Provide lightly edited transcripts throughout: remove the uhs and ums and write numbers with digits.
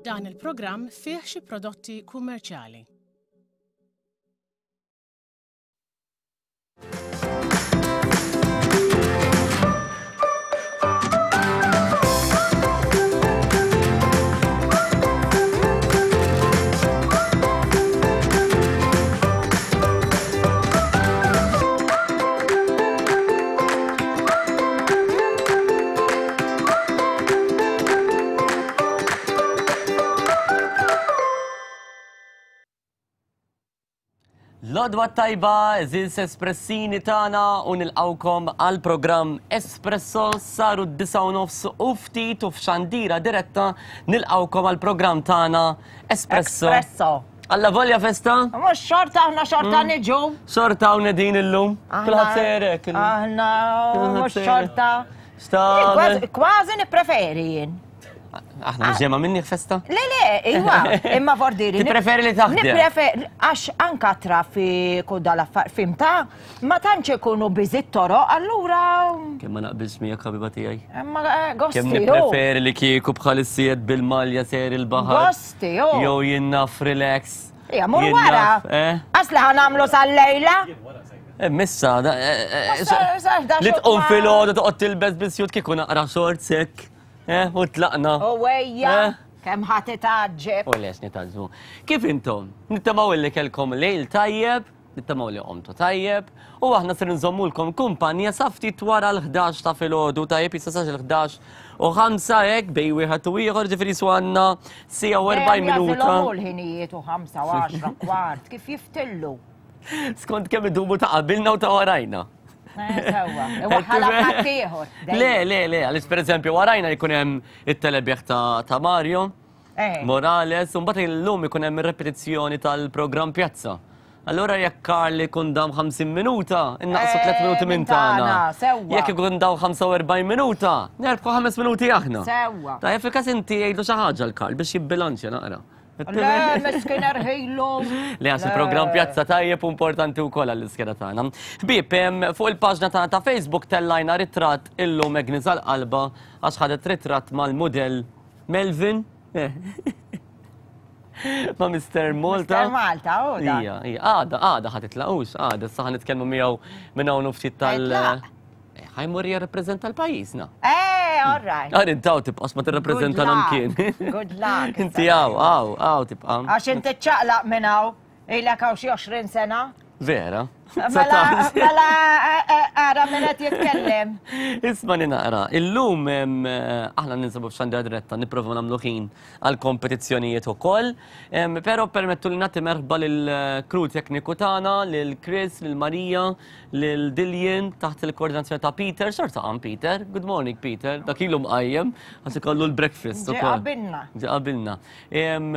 Dan il-programm fih xi prodotti kummerċjali. L-odwa tajba, eżis espressini tagħna u nilqawkom għal programm Espresso saru d-disa u nofs u ftit u f'xandira diretta nilqawkom għal programm tagħna Espresso. Espresso. Alla volja festa? Mux xorta, aħna xorta mm. niġu. Xorta hawn din illum. Kulħadd serek. Aħna mux xorta. Kważi nippreferi jien. Aħna mhux ġemma minni festa? Le, le, iwa, imma vordiri. Tippreferi li taħdem? Nippreferi, għax anka traffiku dal-affar, fimta, ma tantx ikunu biżi toroq, allura. Kemm ma naqbilx miegħek ħabiba tiegħi. Imma eh, gosti. Kemm nippreferi li kieku bħal is-sied bil-malja ser il-baħar. Gosti, oh. Jew jien naf relax. Ija, mur wara. Eh? Għax li ħanamlu sal-lejla. Eh, missa, eh, li tqum fil-ħodu toqgħod tilbes bisjut kieku naqra short sek. Eh, u tlaqna. U ejja, kemm ħadd itaġġeb. U lex nitaġġbu. Kif intom? Nittamaw illi kelkom lejl tajjeb, nittamaw li qomtu tajjeb, u aħna ser nżommulkom kumpanja sa ftit wara l-11 ta' filgħodu tajjeb jista' sax il-11 u ħamsa hekk bej wieħed u ieħor ġifieri su għandna sija u 40 minuta. Jagħżilhom l-ħinijiet u ħamsa u 10 kwart kif jiftillu. Skont kemm idumu ta' qabilna u ta' warajna. Le, le, le, għaliex per eżempju warajna jkun hemm it-telebieħ ta' Mario eh. Morales, u mbagħad illum ikun hemm ir-repetizzjoni tal-programm Pjazza. Allora jekk Karl ikun dam 50 minuta, innaqsu 3 eh, minuti minn tagħna. Jekk ikun daw 45 minuta, nerbħu 5 minuti aħna. Sewwa. Tajjeb fil-każ inti jgħidu xi ħaġa l-Karl biex jibbilanċja naqra. Le, miskin erħilu. Le, għax il-program Pjazza Tajjeb u importanti wkoll għall-iskeda tagħna. Ħbieb, fuq il-paġna tagħna ta' Facebook tellajna ritratt illum Agnes għal-qalba għax ħadet ritratt mal-mudell Melvin. Ma' Mr. Malta. Mr. Malta, u da. Ija, ija, għada, għada ħad itlaqux, għada, saħan nitkellmu miegħu minn hawn ftit tal- Ħajmur jirrappreżenta l-pajjiżna. Eh, all right. Għar intaw tibqax ma tirrappreżenta mkien. Good luck. Inti għaw, għaw, għaw tibqa. Għax inti ċaqlaq minn hawn, ilek hawn xi 20 sena. Vera. Mela, mela, eh, eh, ara minn qed jitkellem. Isma' naqra, illum eh, aħna ninsabu f'xandra diretta nipprova nagħmlu ħin għal kompetizzjonijiet ukoll, però permettu li nagħti merħba lill-crew tekniku tagħna, lil Chris, lil Marija, lil Dillian taħt il-koordinazzjoni ta' Peter, xorta għam Peter, good morning Peter, dak ilu mqajjem, għax ikollu l-breakfast ukoll. Ġi qabilna. Ġi qabilna.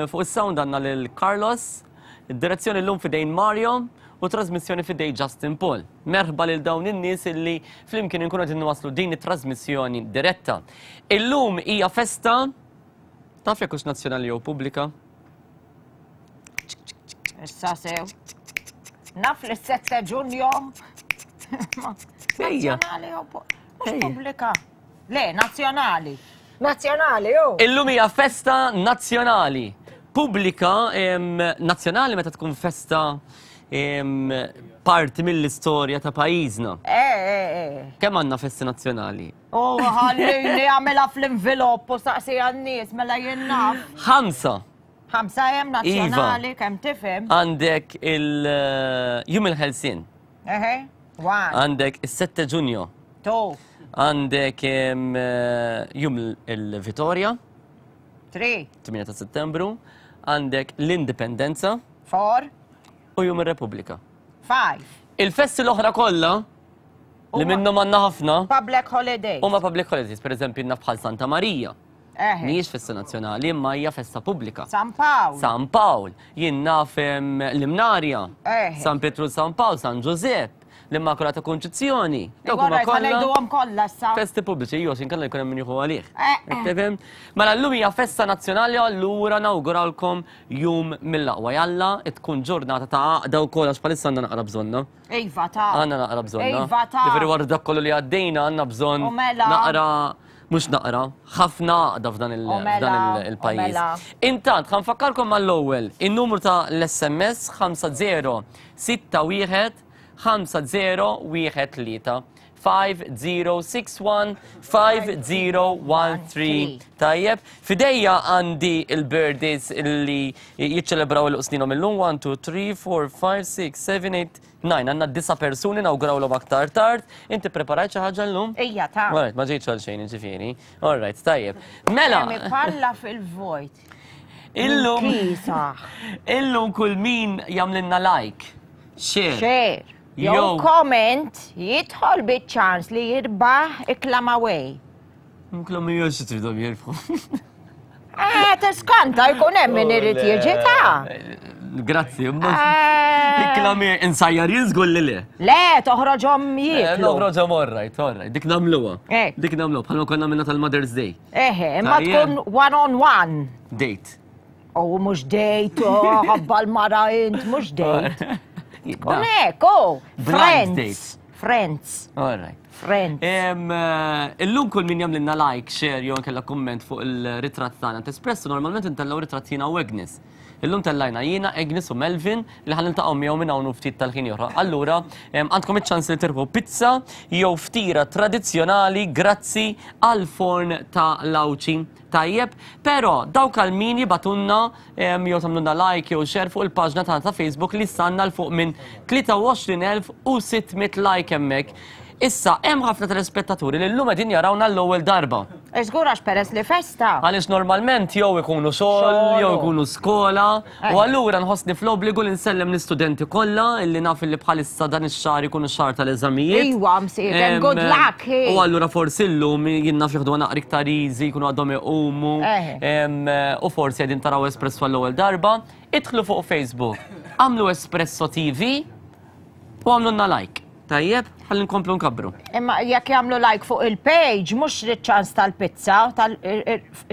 Fuq is-sound għandna lil Carlos, id-direzzjoni llum fidejn Mario u trasmissjoni fidejn Justin Paul. Merħba lil dawn in-nies illi flimkien inkunu qegħdin nwasslu din it-trasmissjoni diretta. Illum hija festa taf jekk hux nazzjonali jew pubblika? Issa sew. Naf li s-7 ġunju. Ejja. Nazzjonali jew mhux pubblika. Le, nazzjonali. Nazzjonali, ju. Illum hija festa nazzjonali. Pubblika nazzjonali meta tkun festa parti mill-istorja ta' pajjiżna. Eh, eh, eh. Kemm għandna festi nazzjonali? U ħallini għamilha fl-invilopp u saqsi għan-nies mela jien naf. Ħamsa. Ħamsa hemm nazzjonali kemm tifhem. Għandek il-Jum il-Ħelsien. Eħe, one. Għandek is-7 Ġunju. Two. Għandek Jum il-Vitorja. Three. 8 ta' Settembru. Għandek l-Indipendenza. Four. U Jum ir-Repubblika. Five. Il-festi l-oħra kollha li minnhom għandna ħafna. Public holidays. Huma public holidays, pereżempju naf bħal Santa Marija. Mhijiex festa nazzjonali, imma hija festa pubblika. San Pawl. San Pawl. Jien naf l-Imnarja. San Pietru San Pawl, San Ġużepp, l-Immakulata Kunċizzjoni. Dawk huma kollha. kollha issa. Festi pubbliċi, jew inkella jkun hemm min jieħu għalih. Tifhem? Mela llum hija festa nazzjonali allura nawguralkom jum mill-aqwa. Jalla tkun ġurnata ta' għaqda wkoll għax bħalissa għandna naqra bżonna. Iva ta' Għandna naqra bżonna. Iva ta' Ġifieri wara dak kollu li għaddejna għandna bżonn U mela. naqra. Mhux naqra, ħafna għaqda f'dan il-pajjiż. Intant, ħa nfakkarkom mal-ewwel, in-numru ta' l-SMS 5061 5013. 5061 5013. Tajjeb, f'idejja għandi il-birthdays li jiċċelebraw il-qsninhom illum 1 2 3 4 5 6 7 8 9. Għandna disa' persuni nawgurawlhom aktar tard. Inti preparajt xi ħaġa llum? Ejja ta. Alright, ma ġejtx għal xejn, ġifieri. Alright, tajjeb. Mela. Palla fil-vojt. Illum. Illum kull min jagħmlilna like, share. Share. Jew comment jidħol biċ-ċans li jirbaħ iklamaway. Iklamaway xi tridhom jirbħu. Eh, tiskanta jkun hemm min irid jiġi ta'. Grazzi, imma. Eh. Iklami insajjar jien żgur li le. Le, toħroġhom eh, jieklu. Noħroġhom orrajt, orrajt, dik nagħmluha. Eh. Dik nagħmluha bħalma konna minna tal-Mother's Day. Eħe, imma tkun one on one. Date. Oh, mhux date, oh, ħabba l-mara int, mhux date. Tkun hekk, oh, friends. Friends. All right. Friends. Eh, illum kull min jagħmlilna like, share jew kella kumment fuq il-ritratt tagħna Espresso normalment intellgħu ritratt jiena u Agnes. Illum tellajna jiena, Agnes u Melvin li ħan niltaqgħu miegħu minn hawn ftit tal-ħin oħra. Allura, għandkom iċ-ċans li tirbħu pizza jew ftira tradizzjonali grazzi għal forn ta' Lawċi. Tajjeb, però dawk għal min jibgħatulna jew tagħmlulna like jew share fuq il-paġna tagħna ta' Facebook li sanna l fuq minn 23,600 like hemmhekk. Issa, hemm ħafna telespettaturi li llum qegħdin jarawna l-ewwel darba. Żgur għax peress li festa. Għaliex normalment jew ikunu xogħol, jew ikunu skola, u allura nħossni fl-obbligu li nsellem l-istudenti kollha illi naf illi bħalissa dan ix-xahar ikunu x-xahar tal-eżamijiet. Iwa, msieken, good luck. U allura forsi llum jien naf jieħduha naqra iktar easy, jkunu għadhom iqumu. U forsi qegħdin taraw Espresso għall-ewwel darba. Idħlu fuq Facebook, għamlu Espresso TV u għamlulna like. Tajjeb, ħalli nkomplu nkabbru. Imma jekk jagħmlu like fuq il-page, mhux ċans tal-pizza,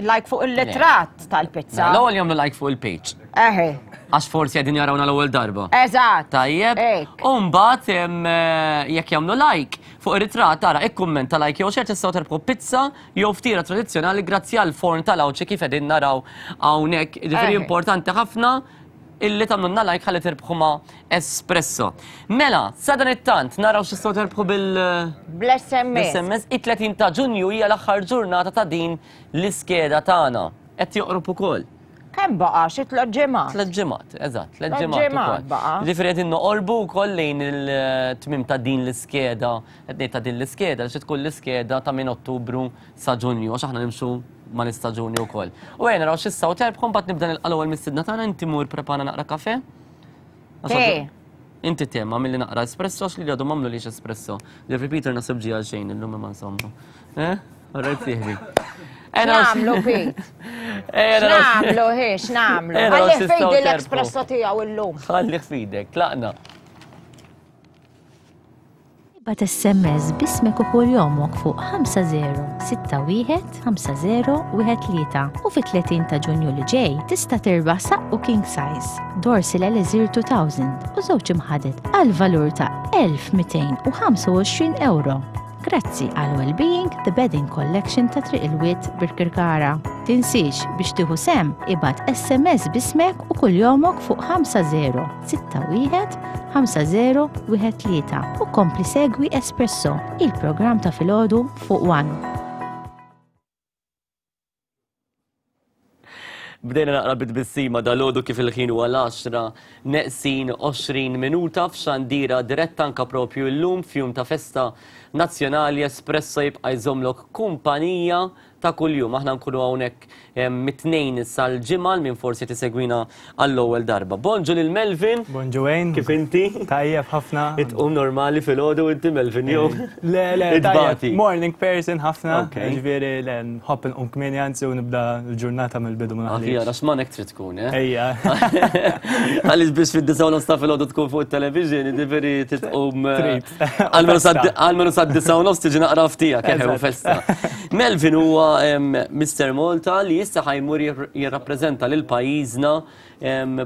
like fuq il-litratt tal-pizza. Mela, l-ewwel jagħmlu like fuq il-page. Eħe. Għax forsi qegħdin jarawna l-ewwel darba. Eżatt. Tajjeb. U mbagħad eh, jekk jagħmlu like fuq ir-ritratt tara ikkummenta like jew xejn tistgħu terbħu pizza jew ftira tradizzjonali grazzi għal forn tal-Għawdxi kif qegħdin naraw hawnhekk. Ġifieri importanti ħafna illi tagħmlulna like ħalli tirbħu ma' Espresso. Mela, sadanittant naraw x'tistgħu terbħu bil Bl-SMS. SMS. It-30 ta' Ġunju hija l-aħħar ġurnata ta' din l-iskeda tagħna. Qed joqrob ukoll. Kemm baqa' xi tliet ġimgħat? Tliet ġimgħat, eżatt, tliet ġimgħat ukoll. Baqa'. Ġifieri qegħdin noqorbu wkoll lejn il-tmiem ta' din l-iskeda, qed ngħid ta' din l-iskeda, xi tkun l-iskeda ta' minn Ottubru sa Ġunju, għax aħna nimxu mal-istaġuni wkoll. U ejja naraw x'issa u terbħu mbagħad nibda nilqa' l-ewwel mistiedna tagħna inti mur prepara naqra kafe. Te. Inti te, ma milli naqra espresso għax li għadu mamlu lix espresso. Jeffrey Peter nasib ġi għal xejn illum imma insomma. Eh? Alright sieħbi. X'nagħmlu Pete? X'nagħmlu hi, x'nagħmlu? Ħalli fidi l-espresso tiegħu illum. Ħalli fidek, tlaqna. Ibgħat SMS b'ismek u kuljomok fuq 5061 5013 u fit-30 ta' Ġunju li ġej tista' tirbaħ saqqu king size, Dorsil Elixir 2000 u żewġ imħaded għal valur ta' 1225 ewro. Grazzi għal Wellbeing The Bedding Collection ta' Triq il-Wied Birkirkara. Tinsiex biex tieħu sehem ibgħat SMS b'ismek u kuljomok fuq 50 61 5013 u kompli segwi Espresso, il-programm ta' filgħodu fuq One. Bdejna naqra bit-tbissima dal-għodu kif il-ħin huwa l-10 neqsin 20 minuta f'xandira diretta anka propju llum f'jum ta' festa nazzjonali Espresso jibqa' jżommlok kumpanija ta' kuljum. Aħna nkunu hawnhekk mit-Tnejn sal-Ġimgħa għal min forsi qed isegwina għall-ewwel darba. Bonġu lil Melvin. Bonġu Wayne. Kif inti? Tajjeb ħafna. Itqum normali filgħodu inti Melvin jew? Le, le, tajjeb. Morning person ħafna. Ġifieri le nħobb inqum kmieni anzi u nibda l-ġurnata mill-bidu ma naħlix. Aħjar għax manek trid tkun, eh? Ejja. Għaliex biex fid-disgħa u nofs ta' filgħodu tkun fuq it-television, jiġifieri titqum. Trid. Għalmenu sa' disa u nofs tiġi naqra ftija kemm festa. Melvin huwa Mr. Malta li issa ħajmur jirrappreżenta lil pajjiżna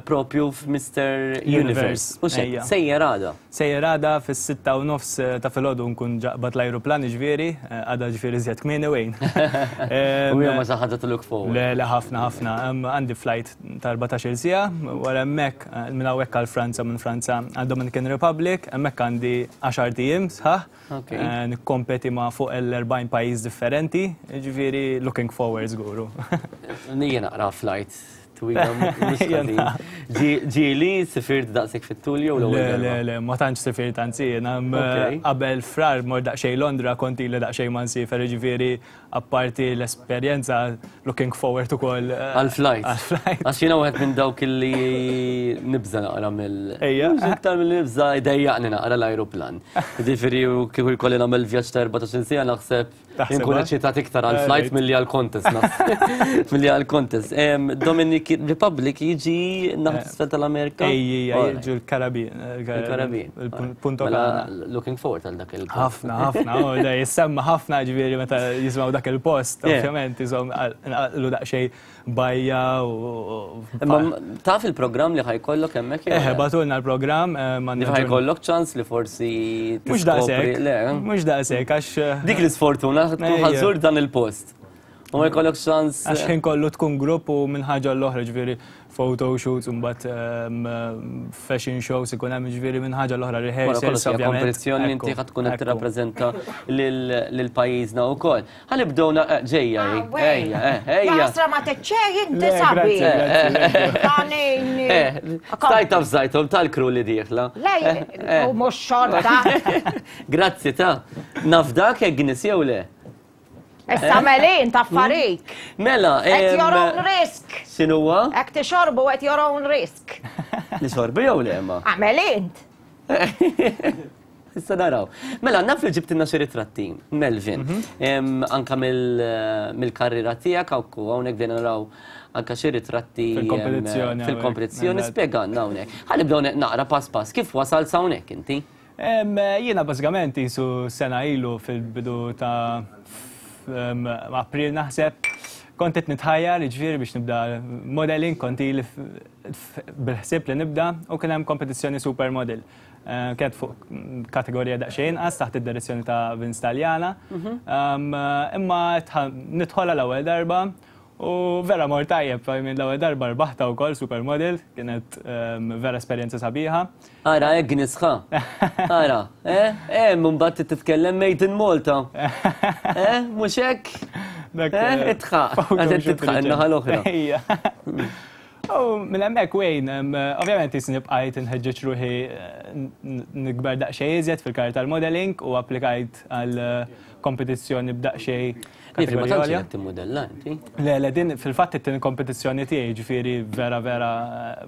propju f'Mr. Universe. U sejjer għada. Sejjer għada fis-6 u nofs ta' filgħodu nkun ġa qbadt l-ajruplan ġifieri, għada ġifieri iżjed kmieni wejn. U hija xi ħaġa to look forward. Le, le, ħafna, ħafna. Għandi flight ta' 14 siegħa, wara hemmhekk minn hawnhekk għal Franza, minn Franza għal Dominican Republic, hemmhekk għandi 10 ijiem sħaħ. Nikkompeti ma' fuq l-40 pajjiż differenti, ġifieri looking forward żguru. Nija naqra flight twila mhux ħażin. Ġieli sifirt daqshekk fit-tul jew l-ewwel Le, le, darba? Le, ma tantx sifirt anzi, jiena qabel Frar mort daqsxejn Londra, kont ili daqsxejn ma nsiefer, ġifieri apparti l-esperjenza looking forward ukoll Għal-flight. Għal-flight. Għax jiena wieħed minn dawk illi nibża naqra mill. Ejja. Mhux iktar mill nibża jdejjaqni naqra l-ajruplan. Ġifieri u kieku jkolli nagħmel vjaġġ ta' 14 siegħa naħseb Taħseb, Inkun eh? eċitat iktar għal-flight milli għal-contest. naħseb. Milli għal-contest. Dominic Republic jiġi naħa t'isfel tal-Amerika? Ej, ej, Alright. jiġu l-Karabin. Il-Karabin. Il-Punto Mela, Cana. looking forward għal dak il Ħafna, ħafna, oh, da jissemma ħafna ġifieri meta jismaw dak il-post, ovvjament, jisom għallu daqxej bajja u. Imma taf il-programm li ħa jkollok hemmhekk? Jew Eħe, le? bagħtulna l-programm. Li ħa jkollok ċans li forsi Mux tiskopri- daqsek, Le, eh? mux daqsek, għax. Dik l-isfortuna tkun Ejja. ħa żżur dan il-post. U ma jkollok ċans. Għax ħin kollu tkun grupp u minn ħaġa l-oħra ġifieri photo shoots u mbagħad fashion shows ikun hemm ġifieri minn ħaġa l-oħra Wara rehearsals. kollox hija Ovvjament. kompetizzjoni li inti Ekku, ħa tkun qed ekku. tirrappreżenta lil pajjiżna wkoll. Ħa nibdew ġejja hi. Ah, wey. Ejja, eh, ejja. Jasra ma teċċej inti Le, sabi. grazzi, grazzi. Tanini. Stajta fżajtom tal-crew li dieħla. Le, u mux xorta. Grazzi ta' nafdak hekk Agnes jew le? Issa melin ta' farik. Mela, At your own risk. X'inhuwa? Ek tixorbu at your own risk. Nixorbu jew le ma? Għamel int. Issa naraw. Mela, naf li ġibtilna xi ritratti, Melvin. Anka mill-karriera tiegħek hawnhekk hawnhekk bdejna naraw anka xi ritratti Fil-kompetizzjoni Fil-kompetizzjoni hawnhekk. spjegalna hawnhekk. Ħa nibdew naqra pass pass. Kif wasal sa hawnhekk inti? Jiena bażikament jisu sena ilu fil-bidu ta' April naħseb, kont qed nitħajjar ġifieri biex nibda modeling, kont ili bil-ħsieb li nibda u kien hemm kompetizzjoni supermodel. Kienet fuq kategorija daqsxejn inqas taħt id-direzzjoni ta' Vince Taljana. Imma nidħolha l-ewwel darba u vera mort tajjeb, minn l-ewwel darba rbaħta wkoll supermodel, kienet vera esperjenza sabiħa. Ara, Agnes ħa. Ara, eh? Eh, mbagħad titkellem Made in Malta. Eh, mhux hekk? Dak, Eh, itħaq, photo għadet shoot titħaq in-naħa l-oħra. Ejja. U minn hemmhekk wejn, ovvjament jisni bqajt nħeġġeġ ruħi nikber daqsxejn iżjed fil-karriera tal-modeling u applikajt għal kompetizzjoni b'daqsxejn Nifri, ma kategorija tantx għolja. qed timmodella inti. Le, le, din fil-fatt it-tieni kompetizzjoni tiegħi ġifieri vera vera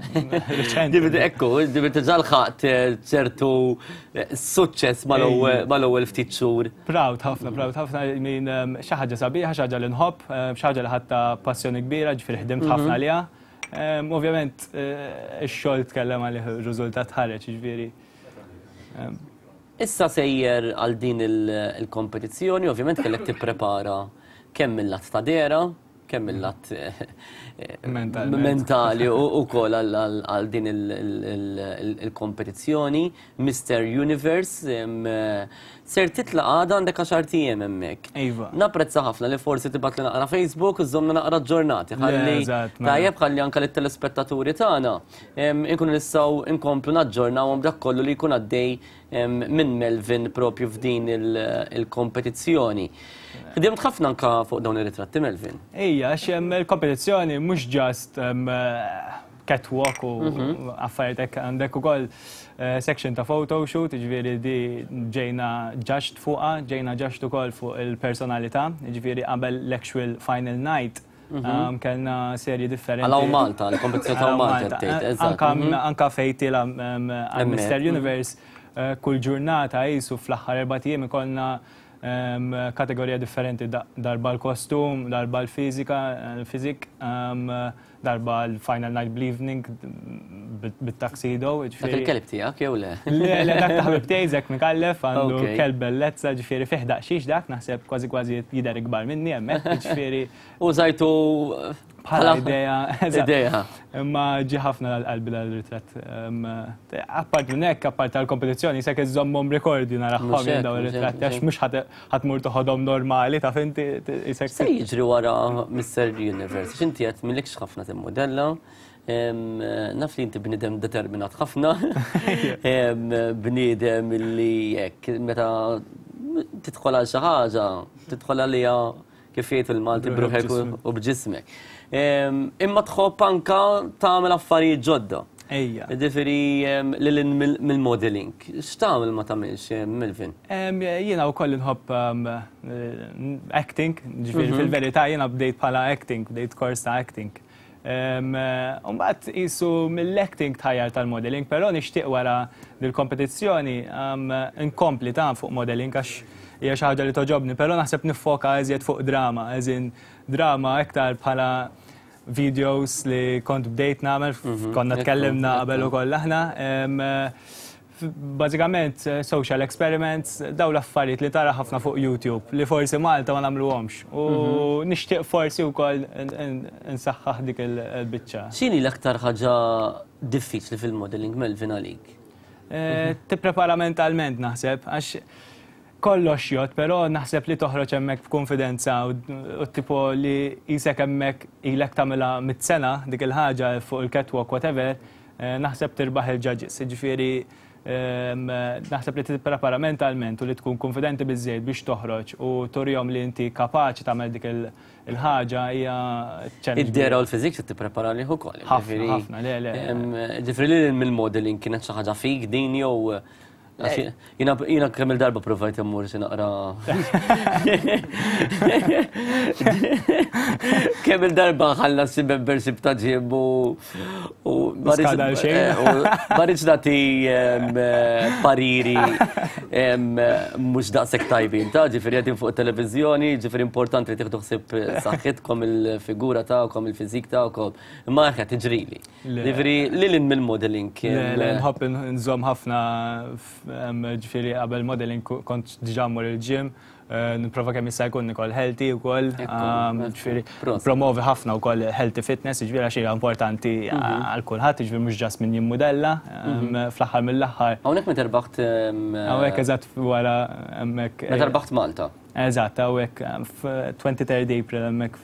riċenti. Ġifieri ekku, ġifieri diġà lħaqt ċertu suċċess mal-ewwel ftit xhur. Proud ħafna, proud ħafna minn xi ħaġa sabiħa, xi ħaġa li nħobb, xi ħaġa li ħadtha passjoni kbira, ġifieri ħdimt ħafna għaliha. Ovvjament ix-xogħol tkellem għalih ir-riżultat ħareġ, ġifieri. Issa sejjer għal din il-kompetizzjoni, ovvjament kellek tipprepara kemm mill-lat ta' dehra, kemm mill-lat Mentalment. mentali u kol għal din il-kompetizzjoni. Mr. Universe, ser titla għada għandek 10 ijiem hemmhekk. Iva. Napprezza ħafna li forsi tibgħat li naqra Facebook u żżommna naqra aġġornati. Ħalli Eżatt, mela. tajjeb ħalli anka lit-telespettaturi tagħna inkunu nistgħu nkomplu naġġornawhom dak kollu li jkun għaddej minn Melvin propju f'din il-kompetizzjoni. Ħdimt ħafna anka fuq dawn ir-ritratti Melvin. Ejja, għax hemm il-kompetizzjoni mhux just catwalk u affarijiet hekk għandek ukoll section ta' photoshoot, ġifieri di ġejna judged fuqha, ġejna judged ukoll fuq il-personalità, ġifieri qabel l-actual final night. Kellna serji differenti. Għal Malta, l-kompetizzjoni ta' Għal Malta, tgħid, eżatt. Anka anka fejn tila għal Hemmhekk, Mr. Universe kull ġurnata jisu fl-aħħar 4 ijiem ikollna kategorija differenti, darba l-kostum, darba l-fizika, l-fizik, darba l-final night bl-evening bit-tuxedo. Dak Ġifieri- il-kelb tiegħek jew le? Le, le, dak ta' ħabib tiegħi Zek Mikallef għandu kelb bellezza, ġifieri fih daqsxiex dak, naħseb kważi kważi jidher ikbar minni hemmhekk, ġifieri Użajtu bħala idea. Idea. Imma ġi ħafna għal-qalbi dal-ritratt. Apart minn hekk, apart tal-kompetizzjoni, jisek iżommhom rekordju naraħħom jien dawn ir-ritratti għax mhux ħadd mur toħodhom normali taf inti jisek. Se jiġri wara Mr. Universe, x'inti qed millikx ħafna timmodella. Naf li inti bniedem determinat ħafna, bniedem li jekk meta tidħol għal xi ħaġa, tidħol għaliha kif jgħid il-Malti bruħek u b'ġismek. Imma tħobb anka tagħmel affarijiet ġodda. Ejja. Ġifieri lil mill-modeling. X'tagħmel ma tagħmilx, Melvin? Jiena wkoll inħobb acting, ġifieri mhm. fil-verità jiena bdejt bħala acting, bdejt kors ta' acting. Mbagħad qisu mill-acting tħajjar tal-modeling, però nixtieq wara dil-kompetizzjoni nkompli ta' fuq modeling għax hija xi ħaġa li toġobni, però naħseb niffoka eżjed fuq drama, eżin drama iktar bħala videos li kont bdejt nagħmel, mhm, konna tkellimna qabel ukoll aħna. Bażikament social experiments, daw l-affarijiet li tara ħafna fuq YouTube li forsi Malta ma nagħmluhomx. U mhm. nixtieq forsi wkoll nsaħħaħ dik il-biċċa. X'inhi l-aktar ħaġa diffiċli fil-modeling Melvin għalik? Eh, tipprepara mentalment naħseb, għax kollox jgħodd, però naħseb li toħroġ hemmhekk b'kunfidenza u tipo li qisek hemmhekk ilek tagħmilha mit-sena dik il-ħaġa fuq il-catwalk whatever, eh, naħseb tirbaħ il-judges. Jiġifieri ehm, naħseb li tipprepara mentalment u li tkun konfidenti biżejjed biex toħroġ u turihom li inti kapaċi tagħmel dik il-ħaġa hija challenge. Id-dera u l-fizik se tipprepara lih ukoll. Ħafna, ħafna, le, le. Ġifieri li mill-modeling kienet xi ħaġa fik din jew Jina jina kemm il-darba provajt immur xi naqra. Kemm il-darba ħallas xi membership ta' gym u u ma rridx eh, nagħti eh, pariri mhux daqshekk tajbin ta' ġifieri qegħdin fuq it-televiżjoni, ġifieri importanti li tieħdu ħsieb saħħitkom il-figura tagħkom, il-fiżik tagħkom. Imma eħe tiġrili. Ġifieri lil hinn mill-modeling. Le, nħobb nżomm ħafna ġifieri qabel modeling kont diġà mmur il-gym, eh, nipprova kemm jista' jkun nikol healthy wkoll, ġifieri promovi ħafna wkoll healthy fitness, ġifieri għax hija importanti mhm. għal kulħadd, ġifieri mhux ġast min jimmudella, mhm. fl-aħħar mill-aħħar. Hawnhekk meta rbaħt Hawnhekk eżatt wara hemmhekk. Meta rbaħt Malta. Eżatt, hawnhekk 23 April hemmhekk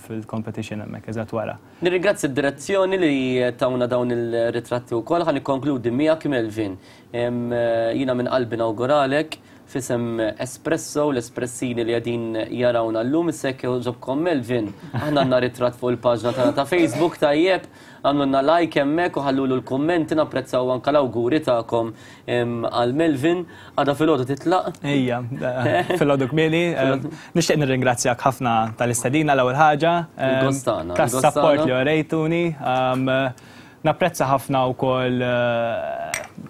fil-competition hemmhekk eżatt wara. Nirringrazzja d-direzzjoni li tawna dawn il-ritratti wkoll. Ħa nikkonkludi miegħek Melvin. Jiena minn qalbi nawguralek f'isem Espresso u l-Espressini li qegħdin jarawna llum. Issa jekk jogħġobkom Melvin, aħna għandna ritratt fuq il-paġna tagħna ta' Facebook tajjeb, għamlulna like hemmhekk u ħallulu l-kummenti napprezzaw anke l-awguri tagħkom għal Melvin. Għada filgħodu titlaq? Ejja, filgħodu kmieni. Nixtieq nirringrazzjak ħafna tal-istedina l-ewwel ħaġa. Il-gostana. Tas-support li orejtuni. Napprezza ħafna wkoll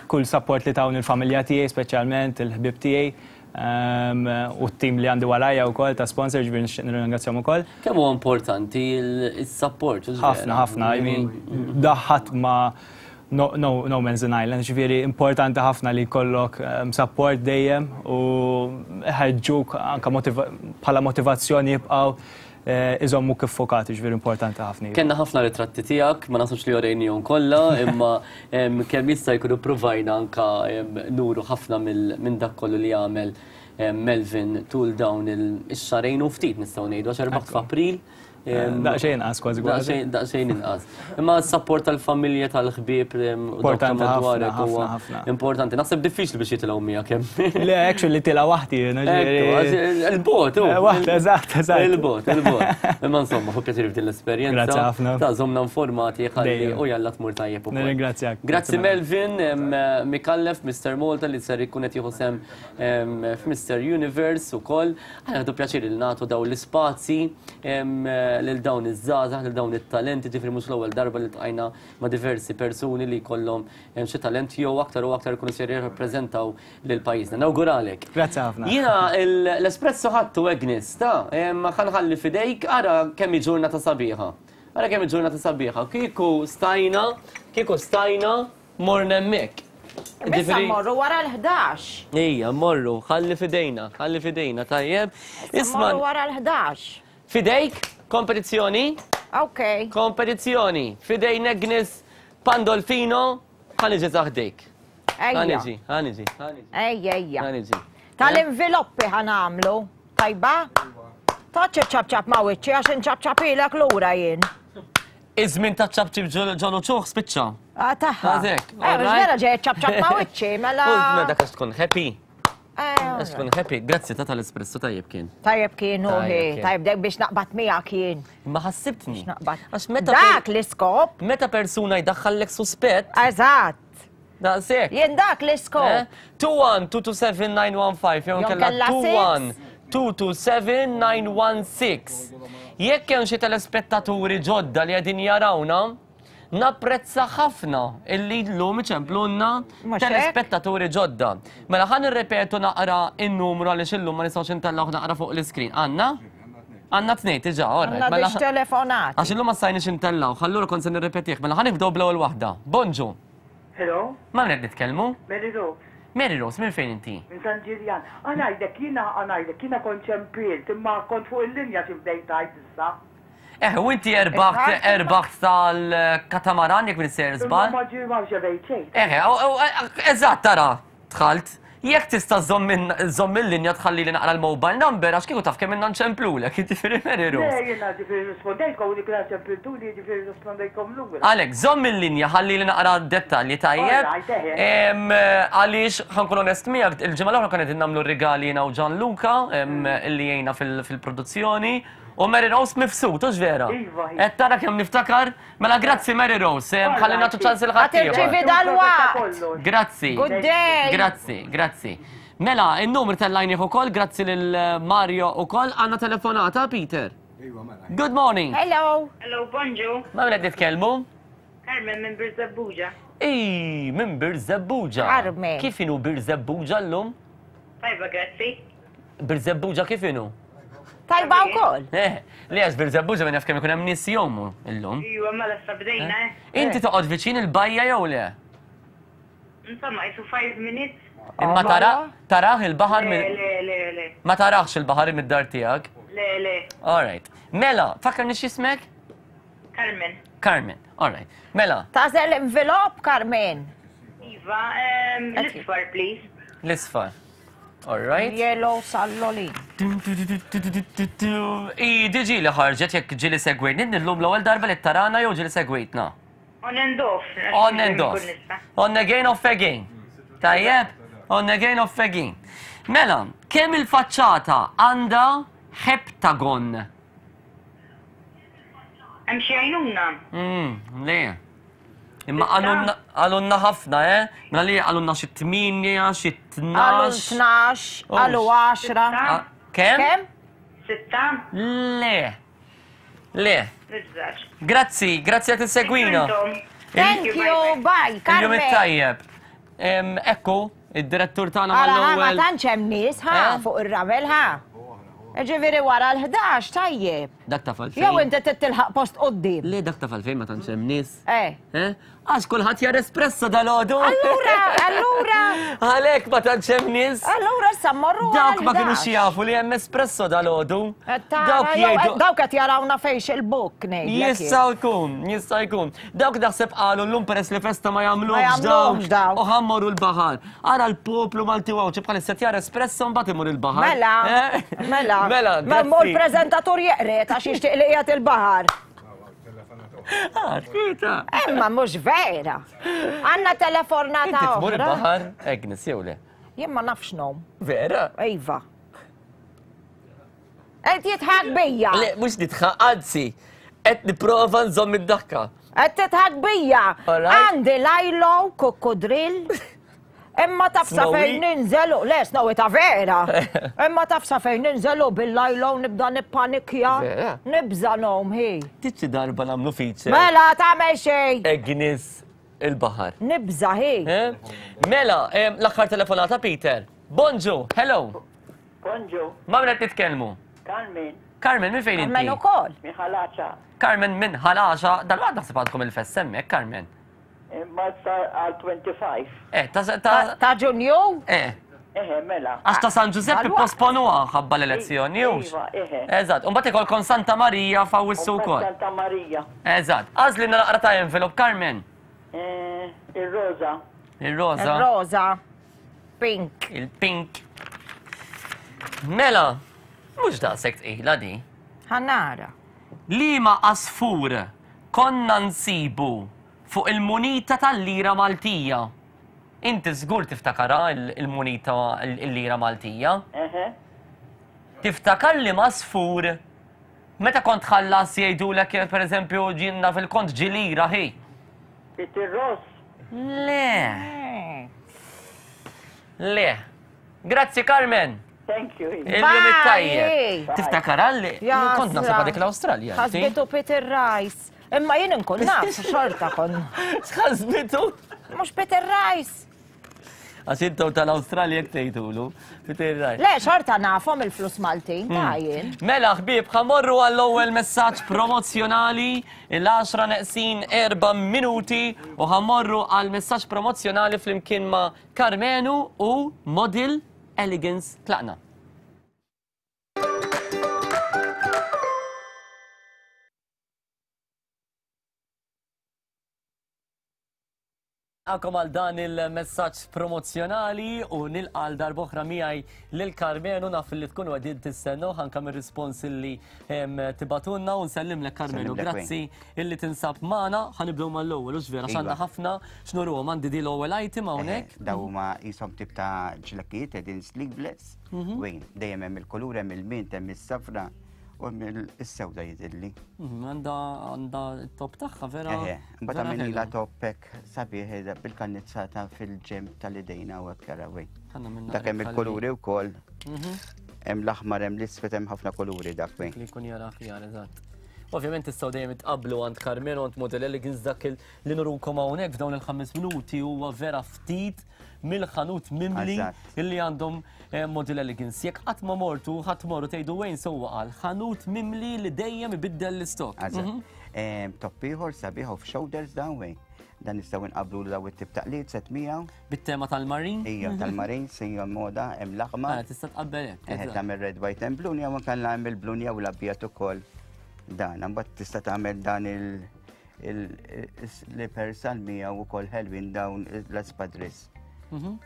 kull support li tawni l-familja tiegħi, speċjalment il-ħbieb tiegħi u t-tim li għandi warajja wkoll ta' sponsor, ġifieri nixtieq nirringrazzjahom ukoll. Kemm huwa importanti s-support? Ħafna, ħafna. I mean, daħħat ma' No, no, no man's an island, ġifieri importanti ħafna li jkollok ehm, support dejjem u ħeġġuk anka bħala motivazzjoni jibqgħu eh, iżommu kif fokati, ġifieri importanti ħafna. Kenna ħafna ritratti tiegħek, ma nasux li orejnihom kollha, imma ehm, kemm jista' jkun ippruvajna anka ehm, nuru ħafna minn dak kollu li għamel Melvin tul dawn il-xarejn u ftit nistgħu ngħidu għax erbaħt f'April. Daqsxejn inqas kważi kważi. Daqsxejn inqas. Imma s-sapport tal-familja tal-ħbieb u dawk ta' madwarek huwa importanti. Naħseb diffiċli biex jitilgħu miegħek hemm. Le, actually tilgħu waħdi. Il-bot, eh, Waħda, eżatt, eżatt. Il-bot, il-bot. Imma insomma, hu pjaċir f'din l-esperjenza. Grazzi ħafna. Ta' żomna informati ħalli u jalla tmur tajjeb ukoll. Nirringrazzjak. Grazzi Melvin Mikallef, Mr. Malta li ser ikun qed jieħu sem f'Mr. Universe ukoll. Aħna nieħdu pjaċir li nagħtu dawn l-ispazji lil dawn iż-żgħażagħ, lil dawn it-talenti, ġifieri mhux l-ewwel darba li ltqajna ma' diversi persuni li jkollhom xi talent jew aktar u aktar ikunu ser jirrappreżentaw lil pajjiżna. Nawguralek. Grazzi ħafna. Jiena l-espresso ħadtu Agnes, ta' ħa nħalli f'idejk, ara kemm hi ġurnata sabiħa. Ara kemm hi ġurnata sabiħa. Kieku stajna, kieku stajna Morna hemmhekk. Issa mmorru wara l-11. Ejja, mmorru, ħalli fidejna, ħalli fidejna, tajjeb. Isma' mmorru wara l-11. Fidejk, kompetizzjoni. Ok. Kompetizzjoni fidejn Agnes Pandolfino ħa niġi taħdejk. Ħa niġi, ħa niġi, ħa niġi. Ejja, ejja. Ħa niġi. Tal-inviloppi ħa nagħmlu. Tajba? Taċ ċapċap ma' wiċċi għax inċapċapilek lura jien. Iż-żmien ta' ċapċip ġolu ċuħ spiċċa. Ah, taħħa. Għazek. Eh, mhux vera ġej ċapċap ma' wiċċi, mela. Mela dak għax tkun happy. Eh, Għax tkun happy. Grazzi ta' tal-espresso tajjeb kien. Tajjeb kien u Tajjeb kien. tajjeb dek biex naqbad miegħek jien. Ma ħassibtni. Naqbad. Għax meta Dak l-iskop. Meta persuna jdaħħallek suspett. Eżatt. Daqshekk. Jien dak l-iskop. 2-1-227-915 jew Jew kella kella 2-1-227-916. Jekk hemm xi telespettaturi ġodda li qegħdin jarawna, napprezza ħafna illi llum iċemplunna Mhux hekk? telespettaturi ġodda. Mela ħa nirrepetu naqra n-numru għaliex illum ma nistgħux intellgħuh naqra fuq l-iskrin. Għandna? Għandna tnejn diġà, all right. Għandna Mela biex telefonat. Għax illum ma stajniex intellgħuh, allura kont se nirrepetih. Mela ħa nibdew bl-ewwel waħda. Bonġu. Hello? Ma' min qed nitkellmu? Mary Rose. Mary Rose, minn fejn inti? Minn San Ġiljan. Ħa ngħidlek, jiena ħa ngħidlek, jiena kont ċempilt, imma kont fuq il-linja xi bdejt tgħid issa. Eh, u inti erbaħt, erbaħt tal-katamaran jekk minn sejjer żball. Imma ma ġie ma rċevejt xejn. Eh, eżatt tara, dħalt. Jekk tista' żżomm il-linja tħallili naqra l-mobile number għax kieku taf kemm ilna nċemplulek, jiġifieri Mary Rose. Le jiena ġifieri rrispondejtkom u dik li ċempiltuli jiġifieri rrispondejtkom lura. Għalhekk, żomm il-linja ħallili naqra d-dettalji tajjeb. All right, eħe. Għaliex ħa nkun onest miegħek, il-ġimgħa l-oħra konna qegħdin nagħmlu r-rigali jiena u Gianluca illi jgħinna fil-produzzjoni u Mary Rose mifsud, hux vera? Iva, iva. Qed tara kemm niftakar? Mela grazzi Mary Rose, ħalli nagħtu ċans il ħaddieħor. Ħa tirċievi dalwaqt. Grazzi. Good day. Grazzi, grazzi. Mela, in-numru tellajnih ukoll, grazzi lil Mario ukoll, għandna telefonata, Peter. Iva, mela. Good morning. Hello. Hello, bonġu. Ma' min qed nitkellmu? Carmen minn Birżebbuġa. Ej, minn Birżebbuġa. Carmen. Kif inhu Birżebbuġa llum? Tajba, grazzi. Birżebbuġa kif inhu? Tajba wkoll. Eh, li għax Birżebbuġa min jaf kemm ikun hemm nies jgħumu illum. Iwa, mela issa bdejna, eh. Inti toqgħod viċin il-bajja jew le? Insomma, jisu 5 minutes. Imma tara tarah il-baħar Le, le, le, le. Ma tarax il-baħar mid-dar tiegħek? Le, le. All right. Mela, fakkarni x'ismek? Carmen. Carmen, all right. Mela. Tagħżel envelope, Carmen. Iva, l-isfar, please. L-isfar. All right. Yellow salloli. I diġi li ħarġet jekk ġili segwejtni, illum l-ewwel darba li tarana jew ġili segwejtna. On and off. On and off. On again, off again. Tajjeb? On again, off again. Mela, kemm il-faċċata għandha heptagon? Hemm xi għajnuna? Mm, le. Imma qalulna ħafna, eh? Mela li qalulna xi 8, xi 12. Qalu 12, qalu 10. Kemm? Kemm? Sitta? Le. Le. Grazzi, grazzi għat segwina. Thank you, bye, Carmen. Il-jum it-tajjeb. Ekku, id-direttur tagħna Ara, ma mal-ewwel. tantx hemm nies ħa Eh? fuq ir-ramel ħa. Ġifieri wara l-11 tajjeb. Dak taf għalfejn. Jew inti trid tilħaq post quddiem. Le dak taf għalfejn ma tantx hemm nies. Eh. Eh? Għax kulħadd jar espresso dalgħodu. Allura, allura. Għalhekk ma tantx hemm nies. Allura issa mmorru wara Dawk ma kinux l-11. jafu li hemm espresso dalgħodu. Tara, Dawk jew jgħidu. dawk qed jarawna fejx il-book ngħidlek. jien. Jista' jkun, jista' jkun. Dawk naħseb qalu llum peress li festa ma Ma jagħmluhx jagħmluhx dawk. U ħa mmorru l-baħar. Ara l-poplu Malti u Għawdxi bħalissa qed jara espresso mbagħad imur il-baħar. Mela, Eh? mela. Mela, Ma mmur grazzi. preżentatur jeqret għax jixtieq li qiegħed il-baħar. Ah, twieta. Imma mhux vera. Għandna telefonata Inti tmur oħra. il-baħar, Agnes, jew le? Jien ma nafx nom. Vera? Iva. Qed jidħak bija. Le, mhux nidħaq, anzi, qed nipprova nżomm id-daħka. Qed tidħak bija. All right. Għandi lajlo, kukkudrill. Imma taf sa Snowy? fejn ninżelu, le snowy ta' vera. Imma taf sa fejn ninżelu bil-lajlo nibda nippanikja. Vera? Nibża nom hi. Tiċi darba nagħmlu feature. Mela tagħmel xejn. Agnes il-baħar. Nibża hi. Eh? Mela, em, l-aħħar telefonata Peter. Bonġu, hello. Bonġu, Ma' min qed nitkellmu? Carmen, Carmen, minn fejn inti? Carmen ukoll. minn Ħalaċa. Carmen minn Ħalaċa, dal-waqt naħseb għandkom il-fest hemmhekk, Carmen. Imma sa għal 25. Eh, ta' ta' Ta' Ġunju? Eh. Eħe, mela. Għax ta' San Ġużepp ipposponuha ħabba l-elezzjoni, hux? Iva, eħe. Eżatt, u mbagħad ikolkom Santa Marija f'Awwissu wkoll. Santa Marija. Eżatt. Għażlilna naqra ta' envelope, Carmen. Eh, ir-roża. Ir-roża. Ir-roża. Pink. Il-pink. Mela, mhux daqshekk tqila di. Ħa nara. Liema għasfur konna nsibu fuq il-munita tal-lira Maltija? Inti żgur tiftakarha il-munita il-lira Maltija. Eħe. Tiftakar liema għasfur meta kont tħallas jgħidulek pereżempju ġinna fil-kont ġi lira ħi? It-tirross? Le. Le. Grazzi Carmen. Thank you. Il-jum it-tajjeb. Tiftakar għalli? Kont naħseb għadik l-Awstralja. Ħasbitu Peter Rice. Imma jien inkun naf xorta kon. X'ħasbitu? Mhux Peter Rice. Għax intom tal-Awstralja jekk tgħidulu. Peter Rice. Le, xorta nafhom il-flus Maltin ta' jien. Mela ħbieb, ħamorru għall-ewwel messaġġ promozzjonali il-10 neqsin 4 minuti u ħamorru għal messaġġ promozzjonali flimkien ma' Karmenu u Model Elegance tlaqna. Għakom għal dan il-messaġġ promozzjonali u nilqa għal darb'oħra miegħi lil Karmenu naf li tkunu qegħdin tistennew anke mir-rispons li tibatunna u nsellimlek Karmenu. Grazzi illi tinsab magħna. Ħa nibdew mal-ewwel hux vera x'għandna ħafna x'nuruhom għandi di l-ewwel item hawnhekk. Daw huma qishom tip ta' ġlekkijiet qegħdin sleeveless. Wejn, dejjem hemm il-kulur, hemm il-mint, hemm is-safra u hemm is-sewda jidhirli. Għandha għandha t-top tagħha vera. Eħe, mbagħad għamilnilha top hekk sabiħ bil-kannizzata fil-ġenb tal-idejna u hekk ara wejn. Dak hemm il-kuluri wkoll. Hemm l-aħmar, hemm l-iswed, hemm ħafna kuluri dak wejn. Li jkun jara aħjar, eżatt. Ovvjament tistgħu dejjem itqabblu għand Carmelo għand Model Elegance dak li nurukom hawnhekk f'dawn il-ħames minuti huwa vera ftit mill-ħanut mimli illi għandhom eh, Model Elegance. Jekk qatt ma mortu, ħadd morru tgħidu wejn sewwa qal, ħanut mimli li dejjem ibiddel l-istok. Mhm. Eh, top ieħor sabiħ off shoulders dan wejn. Dan nistgħu nqabblu daw it-tip ta' qlied set miegħu. Bit-tema tal-marin? Ija, tal-marin, sejja moda, hemm l-aħmar. Ah, tista' tqabbel hekk. Eh, tagħmel red, white and blue, jew anke hemm il-blue jew l-abjad ukoll. Dan, imbagħad tista' tagħmel dan il- il-slippers għal miegħu ukoll ħelwin dawn l-espadris. Mhm.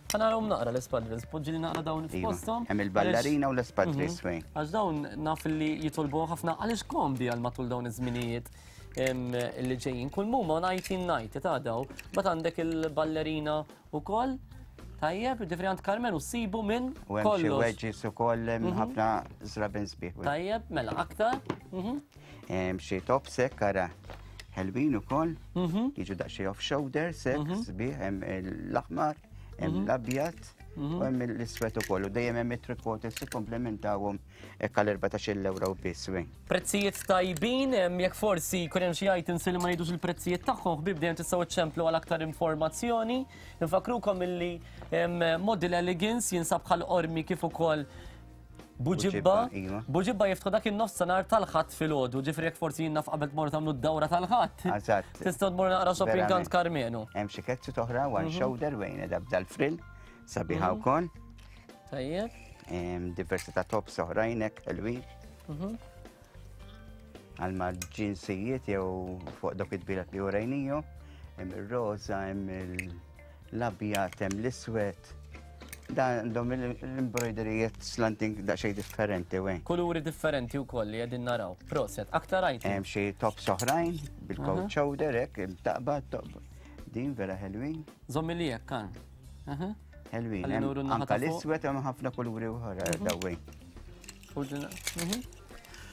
Ħa narahom naqra l-espadris, poġġi li naqra dawn Iva, f'posthom. Hemm il-ballerina u l-espadris mhm. fejn. Għax dawn naf li jitolbu ħafna għaliex komdi għal matul dawn iż-żminijiet li ġejjin. Kull muma 1990 ta' daw, bat għandek il-ballerina u koll. Tajjeb, ġifri għand Carmen u sibu minn U hemm xi wedges ukoll hemm mhm. ħafna żraben sbieħ. Tajjeb, mela aktar. Mhm. Hemm xi top sek ara ħelwin ukoll, mhm. jiġu daqsxejn off shoulder sek sbieħ hemm l-aħmar, hemm l-abjad u hemm l-iswed ukoll u dejjem hemm it-trikotes ikkomplementawhom Hekk għal 14-il ewro biss, wi. Prezzijiet tajbin, jekk forsi jkun hemm xi items li ma ngħidux il-prezzijiet tagħhom, ħbieb dejjem tistgħu iċċemplu għal aktar informazzjoni. Infakkrukom illi Model Elegance jinsab bħal Qormi kif ukoll Buġibba. Iva. Buġibba jiftħu dak in-nofsinhar tal-Ħadd filgħodu, ġifieri jekk forsi jien naf qabel tmorru tagħmlu d-dawra tal-Ħadd. Eżatt. Tistgħu tmorru naqra shopping għand Karmenu. Hemm xi ketsu oħra one shoulder wejn qiegħda b'dal-frill sabiħa wkoll. Tajjeb. Diversi ta' tops oħrajn hekk ħelwin. Mhm. Għal ma' ġinsijiet jew fuq dok id-bilat li urejniju, hemm ir-roża, hemm l-abjad, hemm l-iswed. Dan għandhom l-embroiderijiet slanting daqsxejn differenti wejn. Kuluri differenti wkoll li qegħdin naraw. Proset, aktar item. Hemm xi tops oħrajn bil-coat shoulder hekk taqbad toqba. Din vera ħelwin. Żommi li hekk kan. Ħelwin, anka l-iswed hemm ħafna kuluri oħra mhm. dawwi. Mhm.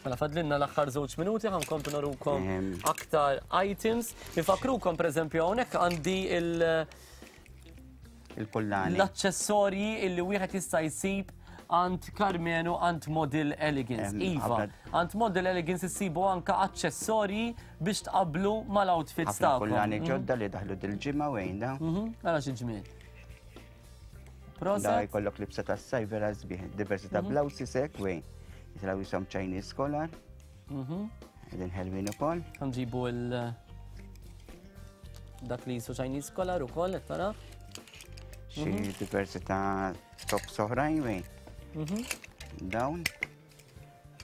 Mela fadlinna l-aħħar żewġ minuti ħankomplu narukom aktar items. Nifakrukom pereżempju hawnhekk għandi il- il-kullani. L-aċċessorji illi wieħed jista' jsib għand Karmenu għand Model Elegance. Iva, għand Model Elegance issibu anka aċċessorji biex tqablu mal-outfits tagħkom. Kullani mhm. ġodda li daħlu dil-ġimgħa wejn da. Ara xi ġmiel. Proset. Da jkollok libsa ta' saj vera sbieħ, diversi ta' mhm. blawsi sek wejn. Jitraw jisom Chinese collar. Mhm. Edin ħelwin ukoll. Nġibu il- dak li jisu Chinese collar ukoll, qed tara. Xi diversi ta' tops oħrajn wej. Dawn.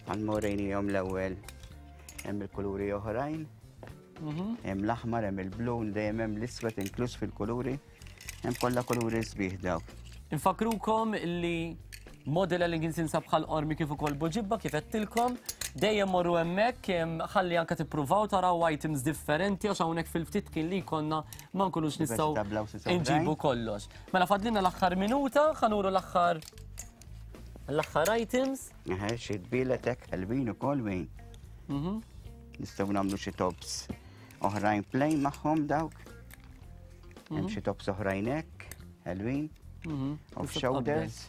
Għal morejnihom l-ewwel hemm il-kuluri oħrajn. Hemm l-aħmar, hemm il-blu, dejjem hemm l-iswed inkluż fil-kuluri. Hemm kollha kuluri sbieħ dawk. Infakrukom li Model Elegance jinsab bħal qormi kif ukoll Buġibba kif għedtilkom. Dejjem morru hemmhekk ħalli anke tippruvaw taraw items differenti għax hawnhekk fil-ftit kien li jkollna ma nkunux nistgħu nġibu kollox. Mela fadlina l-aħħar minuta, ħanuru l-aħħar l-aħħar items. Eħe, xi tbielet hekk ħelwin ukoll wejn. Nistgħu nagħmlu xi tops oħrajn plain magħhom dawk. Hemm xi tops oħrajn hekk, ħelwin. Off shoulders.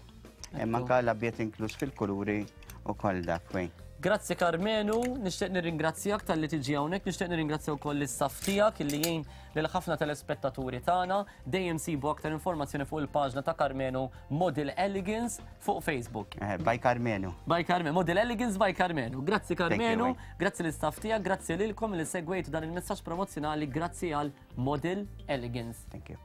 Hemm anke l-abjad inkluż fil-kuluri u koll dak wejn. Grazzi Karmenu, nixtieq nirringrazzjak talli tiġi hawnhekk, nixtieq nirringrazzja wkoll l-istaff tiegħek illi jgħin lil ħafna telespettaturi tagħna. Dejjem sibu aktar informazzjoni fuq il-paġna ta' Karmenu Model Elegance fuq Facebook. By Karmenu. By Karmenu, Model Elegance by Karmenu. Grazzi Karmenu, Thank you, grazzi l-istaff tiegħek, grazzi lilkom li segwejtu dan il-messaġġ promozzjonali, grazzi għal Model Elegance. Thank you.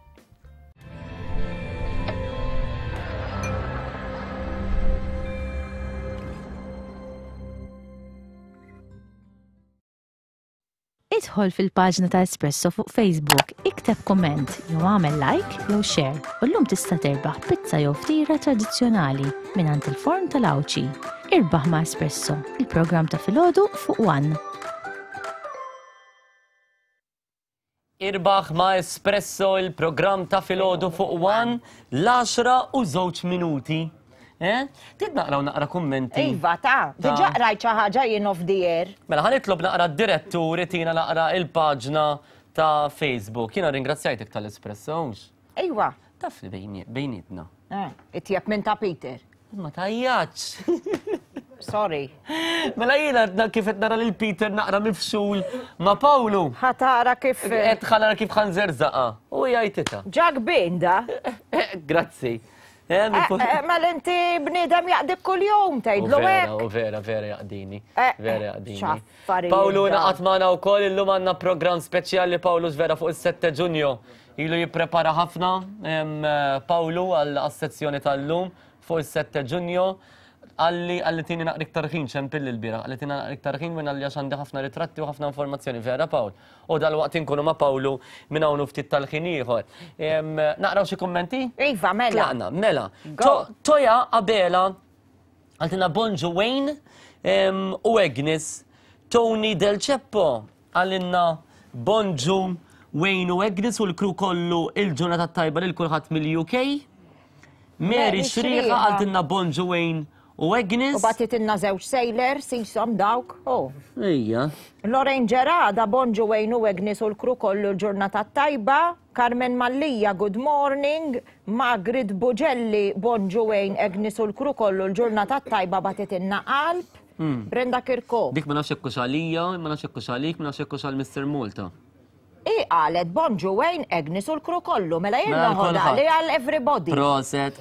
Idħol fil-paġna ta' Espresso fuq Facebook, ikteb kumment jew agħmel like jew share u llum tista' terbaħ pizza jew ftira tradizzjonali mingħand il-forn tal-Għawdxi. Irbaħ ma' Espresso, il-programm ta' filgħodu fuq One. Irbaħ ma' Espresso il-programm ta' filgħodu fuq One l-10 u żewġ minuti. Eh? Trid naqraw naqra kummenti? Iva, ta' diġà qrajt xi ħaġa jien off the air. Mela ħa nitlob naqra d-direttur itina naqra il-paġna ta' Facebook. Jiena ringrazzjajtek tal-Espresso, hux? Iva. Taf li bejnietna. Eh, itjeb minn ta' Peter. Ma tajjaċ. Sorry. Mela jiena kif qed nara lil Peter naqra mifxul ma' Pawlu. Ħa tara kif. Qed ħa nara kif ħa nżerżaqha. U jgħiditha. Ġak binda. Grazzi. Mela inti bniedem jaqdik kuljum tgħidlu hekk. U vera, vera jaqdini. Vera jaqdini. Pawlu naqat magħna wkoll illum għandna programm speċjali Pawlu vera fuq is-7 Ġunju. Ilu jipprepara ħafna Pawlu għall-sezzjoni tal-lum fuq is-7 Ġunju. Qalli qalli tini naqra iktar ħin ċempilli l-bieraħ, qalli tini naqra iktar ħin minn għalli għax għandi ħafna ritratti u ħafna informazzjoni. Vera Pawl? U dalwaqt inkunu ma' Pawlu minn hawn u ftit tal-ħin ieħor. Naqraw xi kummenti? Iva, mela. Tlaqna, mela. Toja Abela qaltilna bonġu Wayne u Agnes. Tony Del Ceppo qalilna bonġu Wayne u Agnes u l-crew kollu il-ġurnata t-tajba lil kulħadd mill-UK. Mary Xrieqa qaltilna bonġu Wayne u Agnes. U bagħtitilna żewġ sailor, sisom dawk. Oh. Ejja. Lorraine Gerada, bonġu Wayne u Agnes u l-crew kollu l-ġurnata t-tajba. Carmen Mallia, good morning. Margaret Bugelli, bonġu Wayne, Agnes u l-crew kollu l-ġurnata t-tajba bagħtitilna qalb. Brenda Kirkop. Dik ma nafx hekk hux għalija, ma nafx hekk hux għalik, ma nafx hekk hux għal Mister Malta. Hi qalet bonġu Wayne, Agnes u l-crew kollu, mela jien Mela noħodha kulħadd. li għal everybody. Proset.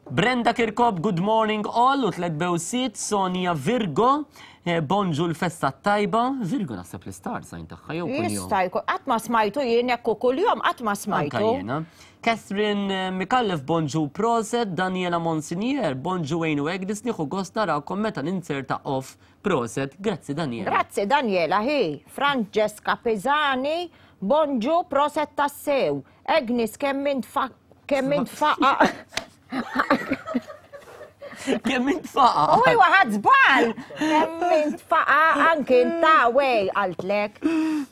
Brenda Kirkop, good morning all, u tlet bewsiet, Sonia Virgo, bonġu l-festa t-tajba. Virgo naħseb l-star sign tagħha jew kuljum. Jista' jkun, qatt ma smajtu jien hekk u kuljum qatt ma smajtu. Anka jiena. Catherine Micallef, bonġu proset, Daniela Monsignor, bonġu Wayne u Agnes, nieħu gost narakom meta ninzerta off. Proset, grazzi Daniela. Grazzi Daniela, hi. Francesca Pisani, bonġu, proset tassew. Agnes, kemm int fa-, kemm int faqa. Kemm int faqa. U iwa ħadd żball. Kemm int faqa anki inta wej qaltlek.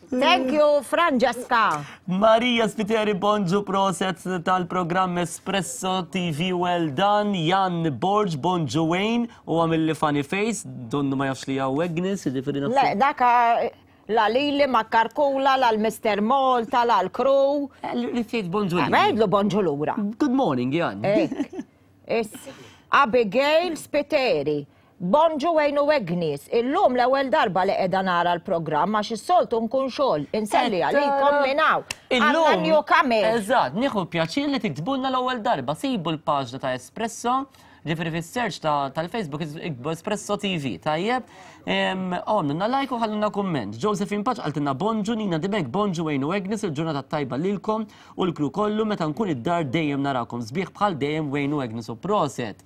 Thank you, Francesca. Maria Spiteri, bonġu, proset tal-programm Espresso TV, well done. Jan Borg, bonġu Wayne, u għamilli funny face, donnu ma jafx li hawn Agnes, jiġifieri nafsu. Le, daka la lili ma karkula, la l-Mister Malta, la l-crew. Li tgħid bonġu lili. Għidlu bonġu lura. Good morning, Jan. Ek. Is Abigail Spiteri. Bonġu Wayne u Agnes. Illum l-ewwel darba li qiegħda nara l-programm għax is-soltu nkun xogħol. Inselli għalikom minn hawn. Illum. Għandna newcomer. Eżatt, nieħu pjaċir li tiktbulna l-ewwel darba. Sibu l-paġna ta' Espresso. Ġifieri fis-search tal-Facebook iktbu Espresso TV, tajjeb? Għamlulna like u ħallulna kumment. Josephine Paċ qaltilna bonġu, Nina Dibek bonġu Wayne u Agnes, il-ġurnata tajba lilkom u l-kru kollu meta nkun id-dar dejjem narakom sbieħ bħal dejjem Wayne u Agnes u proset.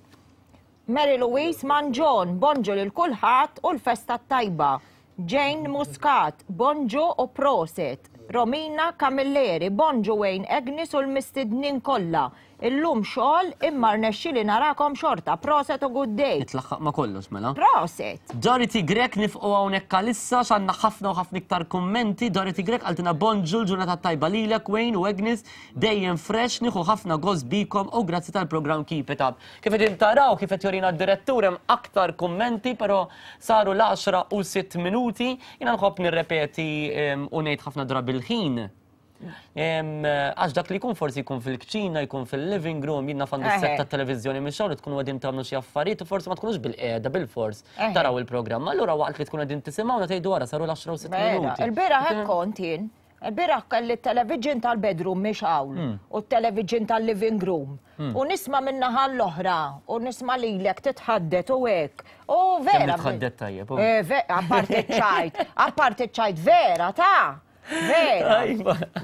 Mary Louise Mangion, bonġu lil kulħadd u l-festa t-tajba. Jane Muscat, bonġu u proset. Romina Camilleri, bonġu Wayne Agnes u l-mistednin kollha. Illum xogħol imma rnexxieli narakom xorta. Proset u good day. Nitlaħħaq ma' kollox mela. Proset. Dorothy Grech nifqu hawnhekk għalissa x'għandna ħafna u ħafna iktar kummenti. Dorothy Grech qaltilna bonġu l-ġurnata tajba lilek Wayne u Agnes dejjem fresh nieħu ħafna gost bikom u grazzi tal-programm Keep It Up. Kif qegħdin taraw kif qed jorina d-direttur hemm aktar kummenti però saru l-10 u 6 minuti. Jiena nħobb nirrepeti u ngħid ħafna drabi l-ħin. Għax dak li jkun forsi jkun fil-kċina, jkun fil-living room, jien naf għandu set ta' televiżjoni minn xogħol tkunu qegħdin tagħmlu xi affarijiet u forsi ma tkunux bil-qiegħda bil-fors taraw il-programm. Allura waqt li tkunu qegħdin tisimgħuna tgħidu wara saru l-10 u 6 minuti. Il-bieraħ hekk kont jien. Il-bieraħ kelli t-television tal-bedroom mhix hawn u t-television tal-living room. U nisma' min-naħa l-oħra u nisma' lilek titħaddet u hekk. U vera. Titħaddet tajjeb. Apparti ċ-ċajt, apparti ċ-ċajt vera ta' Vera.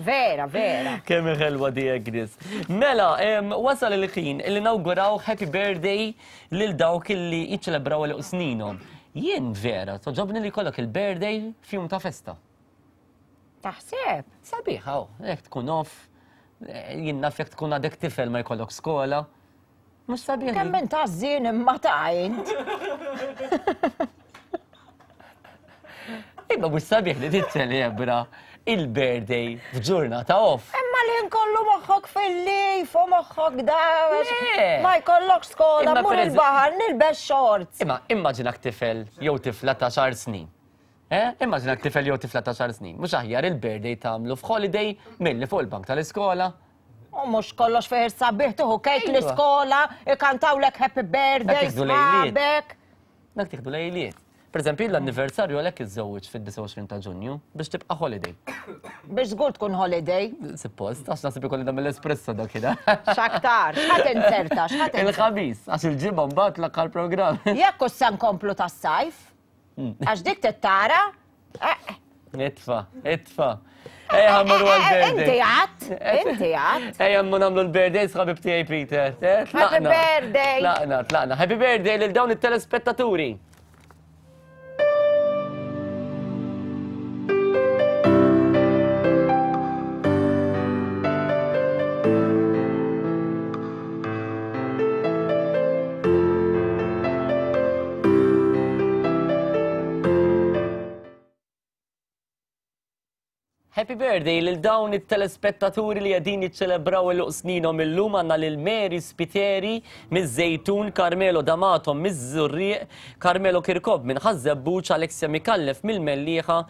Vera, vera. Kemm ħelwa di Agnes. Mela, wasal il-ħin li nawguraw happy birthday lil dawk li jiċċelebraw l sninhom. Jien vera, toġobni li jkollok il-birthday f'jum ta' festa. Taħseb? Sabiħa, oh, jekk tkun off, jien naf jekk tkun għadek tifel ma jkollok skola. Mhux sabiħ. Kemm int għażżien imma ta' int. Imma mhux sabiħ li tiċċelebra il-birthday f'ġurnata off. Imma li nkollu moħħok fil-lif u moħħok da. Ma jkollok skola, mur il-baħar, nilbes shorts. Imma immaġinak tifel jew tifla ta' xar snin. Eh? Immaġinak tifel jew tifla ta' xar snin. Mhux aħjar il-birthday tagħmlu f'holiday milli fuq il-bank tal-iskola. U mhux kollox fejn sabiħ tieħu kejk l-iskola, ikantawlek happy birthday, sħabek. Dak tieħdu lejliet. Per eżempju, l-anniversarju għalhekk iżżewwiġ fid-29 ta' Ġunju biex tibqa' holiday. Biex żgur tkun holiday. Suppost, għax naħseb ikolli nagħmel espresso dak kida. X'aktar, x'ħadd inzerta, x'ħadd Il-ħamis, għax il-ġimgħa mbagħad l-aħħar programm. Jekk se nkomplu tas-sajf, għax dik tittara. Itfa, itfa. Ejja ħammur għal-birthday. Inti għat, inti għat. Ejja mmur nagħmlu l-birthday sħabib tiegħi Peter. Happy birthday. Tlaqna, tlaqna. Happy birthday lil dawn it-telespettaturi. Happy birthday lil dawn it-telespettaturi li qegħdin jiċċelebraw il sninhom illum għandna lil Mary Spiteri miż-Żejtun, Carmelo D'Amato miż-Żurrieq, Carmelo Kirkop minn Ħaż-Żebbuġ, Alexia Micallef mill-Mellieħa,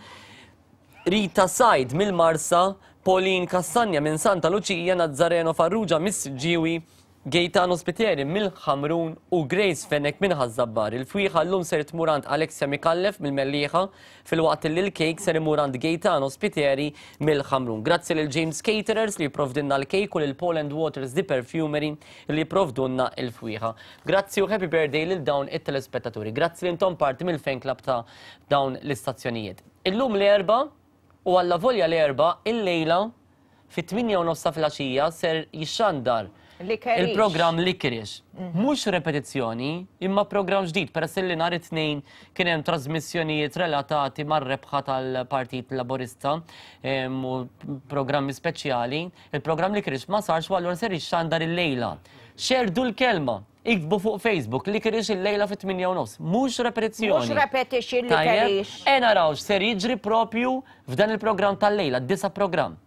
Rita Said mill-Marsa, Pauline Cassagna minn Santa Luċija, Nazzareno Farrugia mis-Siġġiewi, Gaetano Spiteri mill-Ħamrun u Grace Fenech minn Ħaż-Żabbar. Il-fwieħa llum ser tmur għand Alexia Micallef mill-Mellieħa filwaqt li l-kejk ser imur għand Gaetano Spiteri mill-Ħamrun. Grazzi lil James Caterers li jipprovdilna l-kejk u lil Paul and Waters The Perfumery li jipprovdulna l-fwieħa. Grazzi u happy birthday lil dawn it-telespettaturi. Grazzi li intom parti mill-fan club ta' dawn l-istazzjonijiet. Illum l-Erbgħa u allavolja l-Erbgħa illejla Fit-tmienja u nofs ta' filgħaxija ser jixxandar il-programm Licorice. Mhux repetizzjoni, imma programm ġdid peress li nhar it-Tnejn kien hemm trasmissjonijiet relatati mar-rebħa tal-Partit Laburista u programmi speċjali. Il-programm Licorice ma sarx u allura ser jixxandar illejla. Xerrdu l-kelma! Iktbu fuq Facebook Licorice illejla fit-tmienja u nofs. Mhux repetizzjoni. Mhux repetition Licorice. E naraw x'ser jiġri propju f'dan il-programm tal-lejla, d-disa' programm.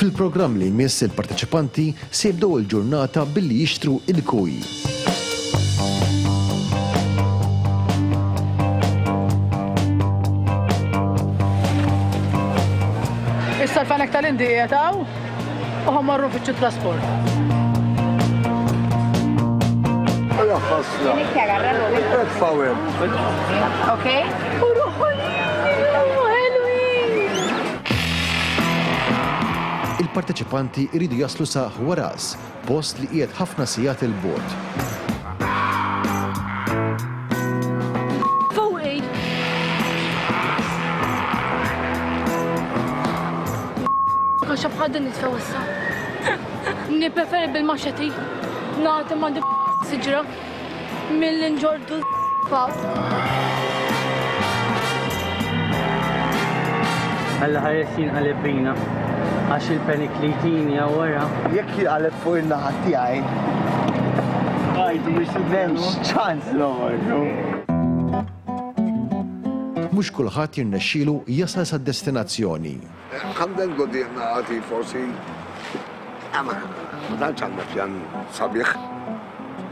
Fil-programm li jmiss il-parteċipanti se jibdew il-ġurnata billi jixtru il-kuj. Issa l-fenek tal-Indi qiegħed hawn u ħa mmorru nfittxu trasport. Okay? Il-parteċipanti jridu jaslu sa Huaraz, post li qiegħed ħafna sigħat 'il bogħod. Fuqi! Għax bħal din nitfgħu issa. Nippreferi bil-maxeti nagħti ma' siġra milli nġordu fa. Alla ħares jinqaleb bina għax il-panic li jtini wara. Jekk jinqaleb fuq in-naħa tiegħi. Għajdu biex M'hemmx ċans noħorġu. Mhux kulħadd jirnexxielu jasal sad-destinazzjoni. Għandek quddiemna għati forsi ma tantx għandna pjan sabiħ.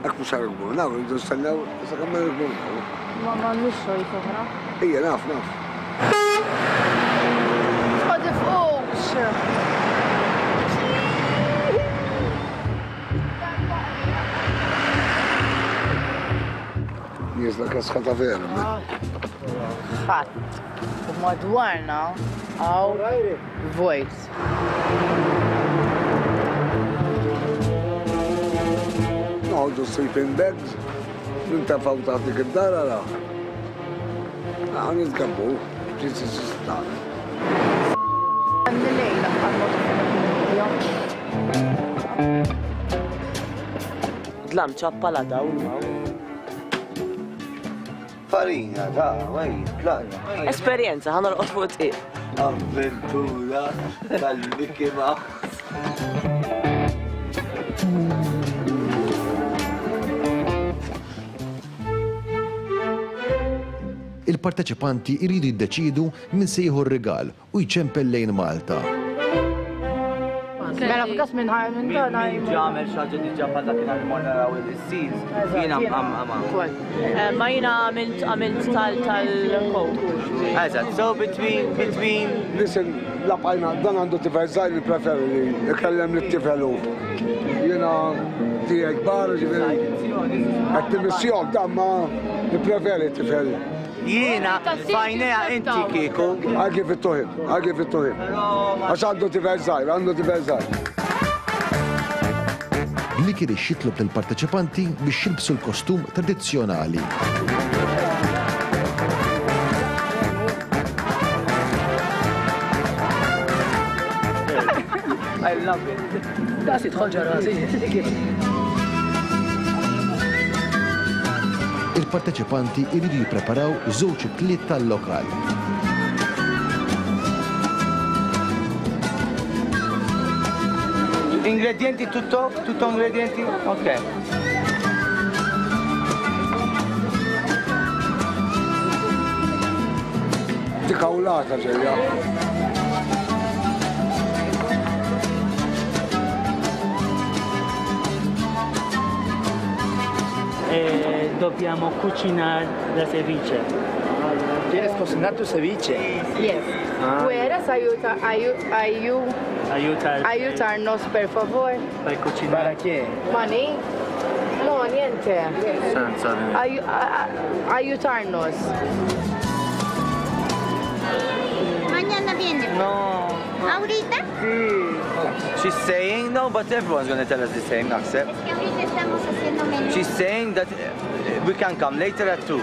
Hekk mhux se nirkbu rridu nistennew sakemm ma nirkbu Ma m'għandniex choice oħra. Ejja naf naf. Ma tifqux! Nieżla kesħa ta' vera. Ħadd. U madwarna hawn vojt. Noħorġu sleeping bags, nintefgħu taħt dik id-dar ara. Ah, nitgabbu, ġisi sistan. Dlam ċappa la dawl ma. Farina, ta' għaj, tlaqna. Esperjenza, ħa norqod fuq it-tqiq. Avventura tal-Mickey Mouse. Il-parteċipanti jridu jiddeċiedu min se jieħu r-rigal u jċempel lejn Malta. Mela f'każ minn ħaj minn dan Min ġamel xi ħaġa diġà bħal dakinhar li morna naraw il-seals, jiena mqamqama. Ma jiena għamilt għamilt tal tal-coke. Eżatt, so between between Listen, la bqajna, dan għandu tifel żgħir li preferi li ikellem lit-tifel hu. Jiena tiegħi kbar, ġifieri qed timmissjok dan ma nippreferi t-tifel. Jiena f'għajnejha inti kieku. I give it to him, I give it to him. Għax għandu tifel żgħir, għandu tifel żgħir. Licorice jitlob lill-parteċipanti biex jilbsu l-kostum tradizzjonali. I love it. Das jidħol ġo rasi. Il-parteċipanti jridu jippreparaw żewġ ikliet tal-lokal. Ingredienti tutto? Tutto ingredienti? Ok. Dik awlata ġejja. Eh, dobbiamo cucinare la ceviche. ¿Quieres cocinar tu ceviche? Yes. Ah. ¿Puedes ayuda, ayu, ayu, Aiutar. ayudarnos, per favor? Per cucinare. ¿Para qué? Money? No, niente. Senza. Ayu, a, a, ayudarnos. Mañana viene. No. ¿Ahorita? Sí. She's saying no, but everyone's gonna tell us the same, naħseb. Es que ahorita estamos haciendo menú. She's saying that we can come later at 2.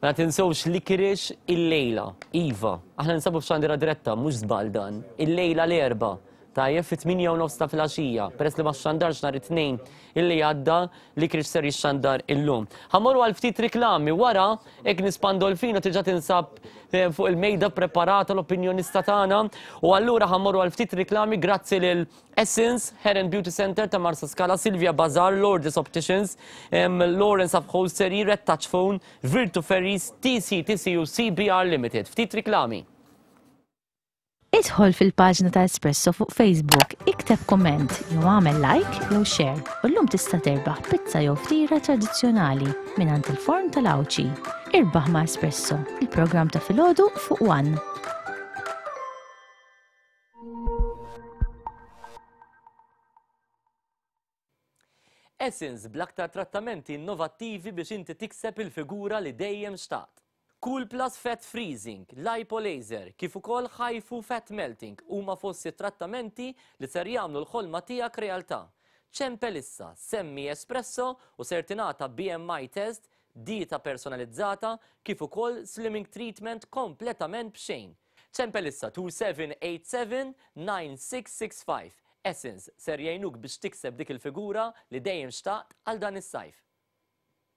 Ma tinsewx Licorice illejla. Iva, aħna ninsabu f'xandira diretta, mhux żball dan. Illejla l-Erbgħa. Tajjeb fit-8 u nofs ta' filgħaxija. Peress li ma xandarx nhar it-Tnejn illi għadda, Licorice ser jixxandar illum. Ħa mmorru għal ftit riklami wara Agnes Pandolfino diġà tinsab fuq il-mejda preparata l-opinjonista tagħna u allura ħa mmorru għal ftit riklami grazzi lil Essence, Hair and Beauty Center ta' Marsaskala, Silvia Bazar, Lourdes Opticians, Lawrence Upholstery, Red Touch Phone, Virtu Ferries, TC, TCU, CBR Limited. Ftit riklami. Idħol fil-paġna ta' Espresso fuq Facebook, ikteb kumment jew agħmel like jew share u llum tista' terbaħ pizza jew ftira tradizzjonali mingħand il-Forn tal-Għawdxi. Irbaħ ma' Espresso, il-programm ta' filgħodu fuq One. Essence bl-aktar trattamenti innovattivi biex inti tikseb il-figura li dejjem xtaqt. Cool Plus Fat Freezing, Lipo Laser, kif ukoll HIFU Fat Melting huma fost it-trattamenti li ser jagħmlu l-ħolma tiegħek realtà. Ċempel issa, semmi Espresso u ser tingħata BMI test, dieta personalizzata kif ukoll slimming treatment kompletament b'xejn. Ċempel issa 2787 9665. Essence ser jgħinuk biex tikseb dik il-figura li dejjem xtaqt għal dan is-sajf.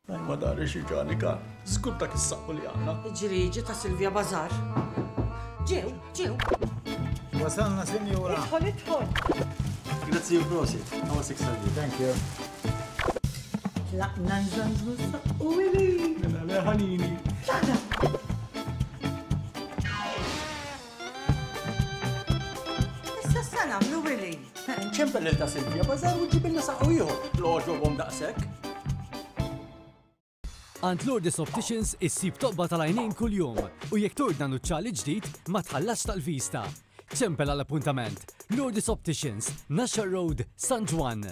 Daj ma dari xi ġani kan. Żgur dak is-saqqu li għandna. Ġriġi ta' Silvia Bazar. Ġew, ġew. Wasalna, sinjura. Idħol, idħol. Grazzi u prosit. Għawa sik salvi. Thank you. Tlaqna nżanżu s-saqqu wili. Mela le ħanini. Tlaqna. Issa sa nagħmlu wili. Ċempel lil ta' Silvia Bazar u ġibilna saqqu ieħor. L-għoġobhom daqshekk. Għand Lourdes Opticians issib toqba tal-għajnejn kuljum u jekk tordna nuċċali ġdid ma tħallasx tal-vista. Ċempel għal appuntament. Lourdes Opticians, Naxxar Road, San Ġwann.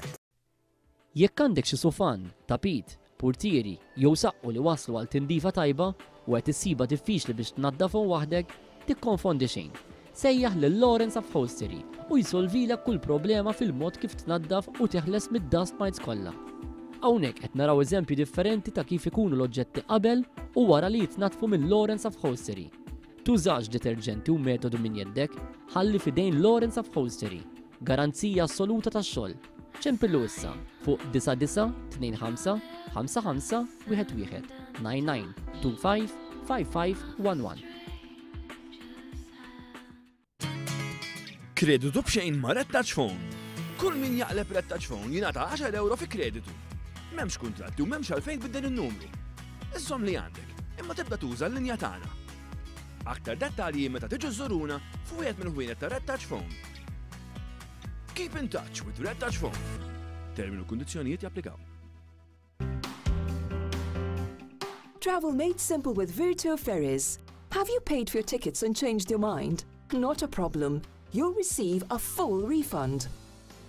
Jekk għandek xi sufan, tapit, purtieri jew saqqu li waslu għal tindifa tajba u qed issibha diffiċli biex tnaddafhom waħdek, Tikkonfondi xejn. Sejjaħ lil Lawrence Upholstery u jsolvilek kull problema fil-mod kif tnaddaf u teħles mid-dust mites kollha. Hawnhekk qed naraw eżempji differenti ta' kif ikunu l-oġġetti qabel u wara li jitnaddfu minn Lawrence Upholstery. Tużax deterġenti u metodu minn jeddek, ħalli f'idejn Lawrence Upholstery. Garanzija assoluta tax-xogħol. Ċempillu issa fuq 9925 55 11 99 25 55 11. Kreditu b'xejn ma' Red Touch Phone. Kull min jaqleb Red Touch Phone jingħata 10 euro fi kreditu. M'hemmx kuntratti u m'hemmx għalfejn tbiddel in-numru. Iżżomm li għandek, imma tibda tuża l-linja tagħna. Aktar dettalji meta tiġu żżuruna f'wieħed mill-ħwienet ta' Red Touch Phone. Keep in touch with Red Touch Phone. Termini u kundizzjonijiet japplikaw. Travel made simple with Virtu Ferries. Have you paid for your tickets and changed your mind? Not a problem. You'll receive a full refund.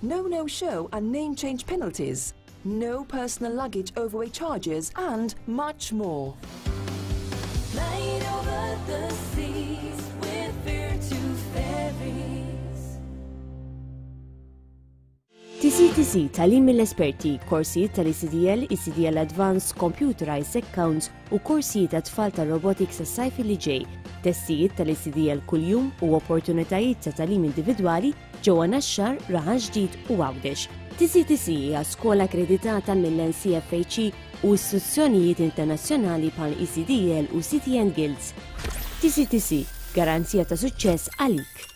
No no-show and name change penalties. No personal luggage overweight charges and much more. Flying over the seas with Virtu Ferries. TCTC, Tagħlim mill-esperti, korsijiet tal-ECDL, ECDL Advanced, Computerized Accounts u korsijiet għat-tfal tar-robotics għas-sajf li ġej, testijiet tal-ECDL kuljum u opportunitajiet ta' tagħlim individwali ġewwa Naxxar, Raħal Ġdid u Għawdex. TCTC hija skola akkreditata mill-NCFHE u istituzzjonijiet internazzjonali bħal ECDL u City and Guilds. TCTC, garanzija ta' suċċess għalik.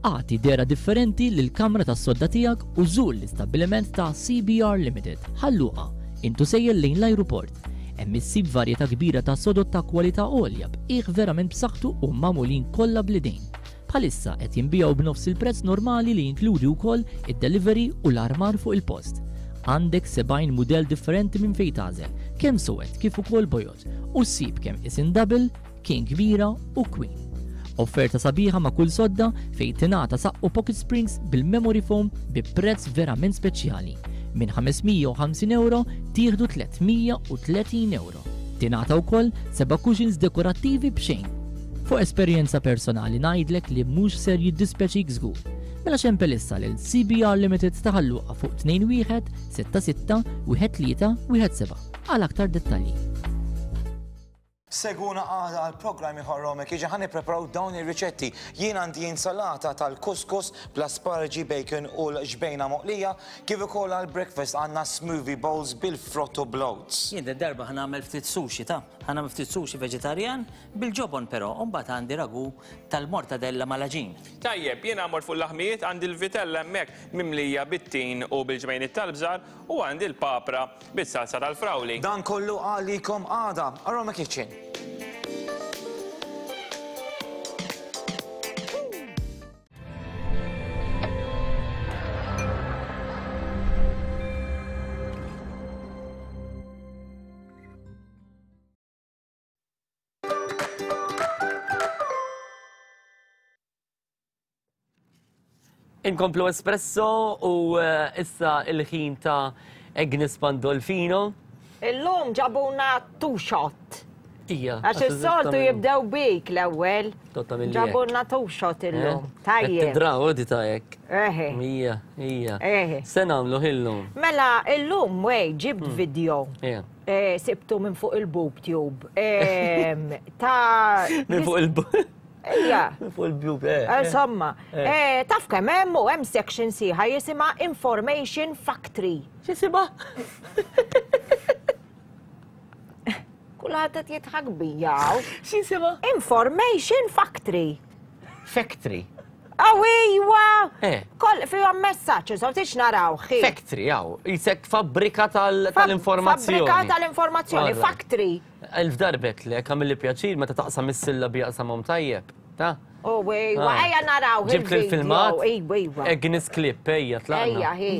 Agħti dehra differenti lill-kamra tas-sodda tiegħek u żur l-istabbiliment ta' CBR Limited, Ħal Luqa, int u sejjer lejn l-ajruport. Hemm issib varjetà kbira ta' sodod ta' kwalità għolja b'qiegħ verament b'saħħtu u magħmulin kollha bl-idejn. Bħalissa qed jinbiegħu b'nofs il-prezz normali li jinkludi wkoll id-delivery u l-armar fuq il-post. Għandek 70 mudell differenti minn fejn tagħżel, kemm suwed kif ukoll bojod, u ssib kemm qisien double, King kbira u Queen. Offerta sabiħa ma' kull sodda fejn tingħata saqqu pocket springs bil-memory foam bi prezz verament speċjali. Minn 550 euro tieħdu 330 euro. Tingħata wkoll seba' cushions dekorattivi b'xejn. Fuq esperjenza personali ngħidlek li mhux ser jiddispjaċik żgur. Mela xempel issa lil CBR Limited ta' Ħal Luqa fuq 21 66 13 17 għal aktar dettalji. Segwuna għada għal programm ieħor Romek jiġi ħa nippreparaw dawn ir-riċetti. Jien għandi insalata tal-couscous bl-asparagi, bacon u l-ġbejna moqlija, kif ukoll għal breakfast għandna smoothie bowls bil-frott u bl-oats. Jien did-darba ħa nagħmel ftit sushi ta' ħa nagħmel ftit sushi veġitarjan bil-ġobon però, u mbagħad għandi ragu tal-mortadella mal-għaġin. Tajjeb, jiena mort fuq l-laħmijiet għandi l-vitella hemmhekk mimlija bit-tin u bil-ġbejniet tal-bżar U għandi l-papra bis-salsa tal-frawli. Dan kollu għalikom għada. Aroma Kitchen. Inkomplu Espresso u eh, issa il-ħin ta' Agnes Pandolfino. Illum ġabuna two shot. Ija. Għax is-soltu jibdew bik l-ewwel. Ġabuna two shot illum. Eh? Tajjeb. Tidraw di ta' hekk. Eħe. Ija, ija. Eħe. Se nagħmlu illum. Mela illum wej ġibt hmm. video. Eh, sibtu minn fuq il-boob tube. Ta' Minn fuq il-boob. Ija. Fuq il-boob, eh. eh. Insomma, eh. taf kemm hemm u hemm section sieħa jisimha Information Factory. X'jisimha? Kulħadd qed jidħak bija. X'jisimha? Information Factory. Factory. Aw iwa! Eh. Koll fihom messaġġ, insomma tix naraw. Factory, aw, jisek fabbrika tal-informazzjoni. Fabbrika tal-informazzjoni, factory. Elf darbet lek, għamilli pjaċir meta taqsam is-sillabi jaqsamhom tajjeb. Ta? U iwa, Ah. ejja naraw. Ġibt il-video. il-filmat? Iwa, iwa. Agnes Clip, ejja, tlaqna. Ejja, hi.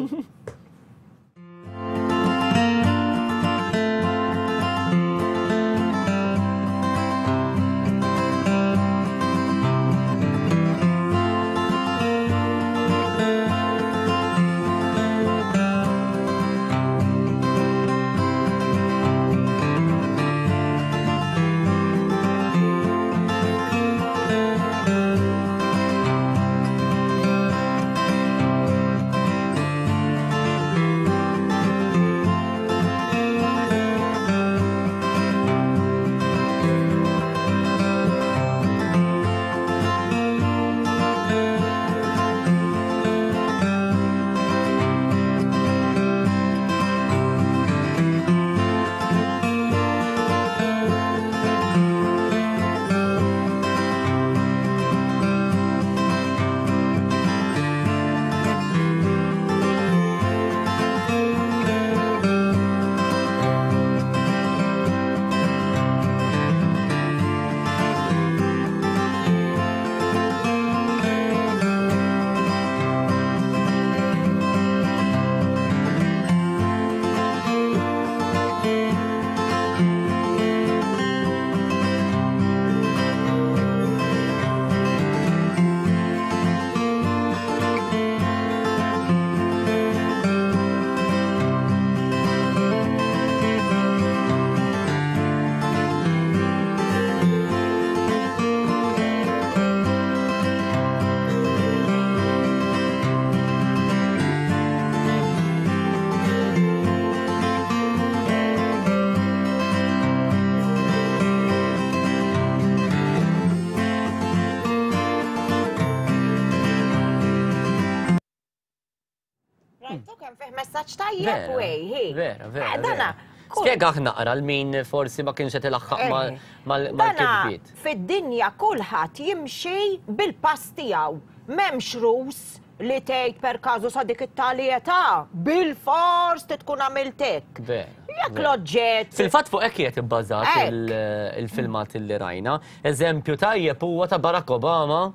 Rajtu kemm fih messaġġ tajjeb Vera, wej, hi. Vera, vera. Eh, Dana, vera. Spjegaħ naqra l-min forsi ma kienx qed ilaħħaq Eh. Dana, mal-kitbiet. fid-dinja kulħadd jimxi bil-pass tiegħu. M'hemmx rus li tgħid per każu sa dik it-tali età, bil-fors ti tkun għamilt hekk. Vera. Jekk vera. l-oġġett. Fil-fatt fuq hekk qiegħed ibbażat Hekk. il- il-filmat li rajna. Eżempju tajjeb huwa ta' Barack Obama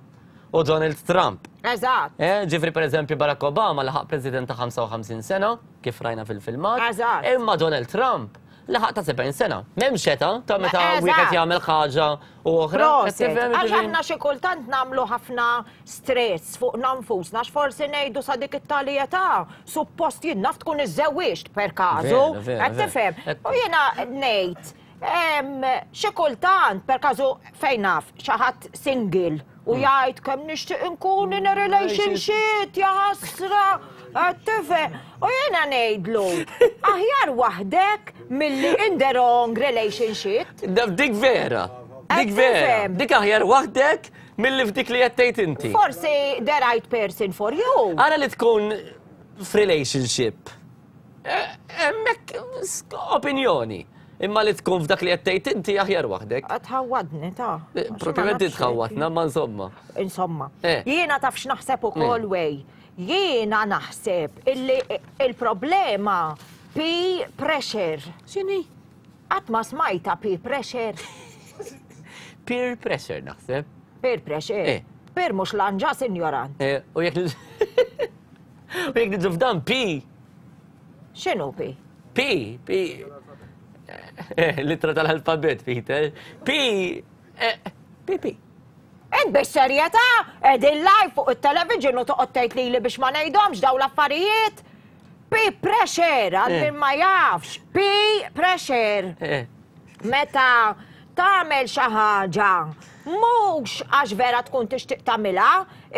u Donald Trump. Eżatt. Eh, ġifri per eżempju Barack Obama laħaq president ta' 55 sena, kif rajna fil-filmat. Eżatt. Imma Donald Trump laħaq ta' 70 sena. M'hemmx età ta' meta Eżatt. wieħed jagħmel ħaġa u oħra. Qed Proset, tifhem, għax ġifieri? aħna xi kultant nagħmlu ħafna stress fuq nfusna, għax forsi ngħidu sa dik it-tali età, suppost jien naf tkun iżżewwiġt per każu, Vera, vera, qed vera. tifhem. U jiena ngħid, em, xi kultant per każu fejn naf xi ħadd single u jgħid kemm nixtieq inkun in a relationship, ja ħasra, qed tifhem. U jiena ngħidlu, aħjar waħdek milli in the wrong relationship. Da- Dik vera. Dik Qed vera. tifhem. Dik aħjar waħdek milli f'dik li qed tgħid inti. Forsi the right person for you. Ara li tkun f'relationship. Eh, Hemmhekk opinjoni. Imma li tkun f'dak li qed tgħid inti aħjar waħdek. Tħawwadni ta' Eh, Propjament tħawwadna, ma insomma. Insomma. Eh. Jiena taf x'naħseb ukoll Eh. wej. Jiena naħseb illi il-problema P pressure. X'inhi? Qatt ma smajta P pressure. Peer pressure naħseb. Peer pressure. Eh. Peer mhux lanġa, sinjoran. Eh, U jekk u jekk niġu f'dan P. X'inhu P? P, P. Eh, Litra tal-alfabet, Peter. P, eh, P, P. Int bis-serjetà qegħdin live fuq it-television u toqgħod tgħid lili biex ma ngħidhomx dawn l-affarijiet? P pressure għal min ma jafx. P pressure. Meta tagħmel xi ħaġa mhux għax vera tkun tixtieq tagħmilha,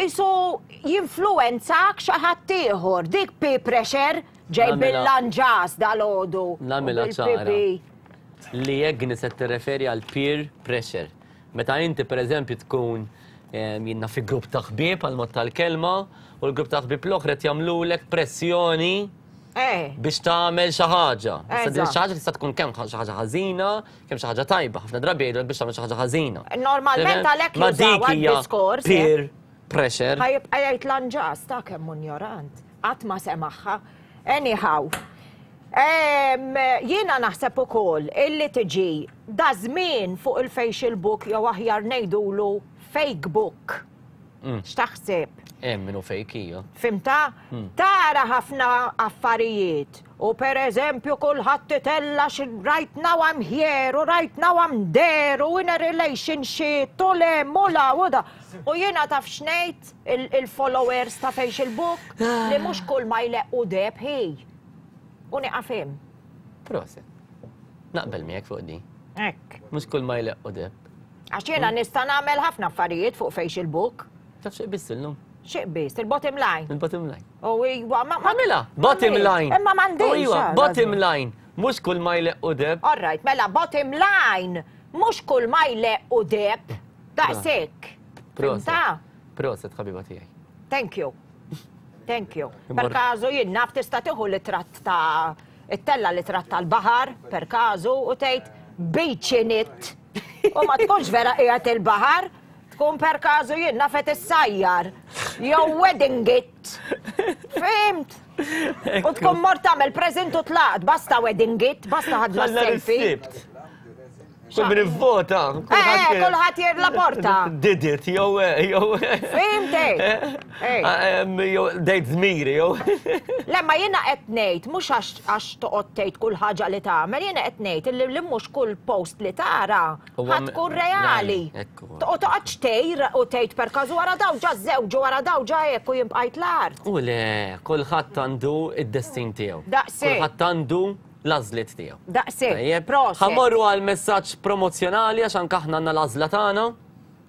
isu jinfluwenzak xi ħadd ieħor. Dik P pressure ġej bil-lanġas dalgħodu. Nagħmilha ċara. Li Agnes qed tirreferi għal peer pressure. Meta inti pereżempju tkun jien naf fi grupp ta' ħbieb għal mod tal-kelma u l-grupp ta' ħbieb l-oħra qed jagħmlulek pressjoni eh. biex tagħmel xi ħaġa. Issa din xi ħaġa tista' tkun kemm xi ħaġa ħażina, kemm xi ħaġa tajba. Ħafna drabi jgħidulek biex tagħmel xi ħaġa ħażina. Normalment għalhekk jużaw diskors. Eh. Peer pressure. Ħa jibqa' jgħid lanġas ta' kemm ignorant. Qatt ma semagħha. Anyhow. Jiena naħseb ukoll illi tiġi daż-żmien fuq il-facial book jew aħjar ngħidulu fake book. X'taħseb? Hemm min hu fake hija. Fhimtha? Tara ħafna affarijiet u pereżempju kulħadd itella' xi right now I'm here u right now I'm there u in a relationship u 'l hemm u 'l hawn u da. U jiena taf x'ngħid il-followers ta' facial book li mhux kull ma jleqqu deheb hi. U nieqaf hemm. Proset. Naqbel miegħek fuq din. Hekk. Mhux kull ma jleqqu deheb. Għax jiena nista' nagħmel ħafna affarijiet fuq facial book. Taf xi qbiżt illum? Xi qbiżt? Il-bottom line. Il-bottom line. U iwa, ma. Għamilha! Bottom line. Imma m'għandix. U iwa, bottom line. Mhux kull ma jleqqu deheb. All right, mela bottom line. Mhux kull ma jleqqu deheb. Daqshekk. Proset. Proset ħabiba tiegħi. Thank you. Thank you. Per każu jien naf tista' tieħu litratt ta' ittella litratt tal-baħar per każu u tgħid beach in it. U ma tkunx vera qiegħed il-baħar, tkun per każu jien naf qed issajjar. Jew wedding it. Fimt? U tkun mort tagħmel present u tlaqt, basta wedding it, basta ħadna selfie. Kull min ivvota. Eh, kulħadd jirla porta. Did it, jew eh, jew. Fimti? Eh. Ah, jew dejt żmiri, jew. Le ma jiena qed ngħid mhux għax toqgħod tgħid kull ħaġa li tagħmel, jiena qed ngħid li mhux kull post li tara ħadd tkun reali. U toqgħodx tgħir u tgħid per każu wara daw ġa żewġu wara daw ġa hekk u jien bqajt l-art. U le, kulħadd għandu id-destin tiegħu. Daqshekk. Kulħadd għandu l-għażliet tiegħu. Daqshekk. Tajjeb. Proset. Ħa mmorru għal messaġġ promozzjonali għax anke aħna għandna l-għażla tagħna.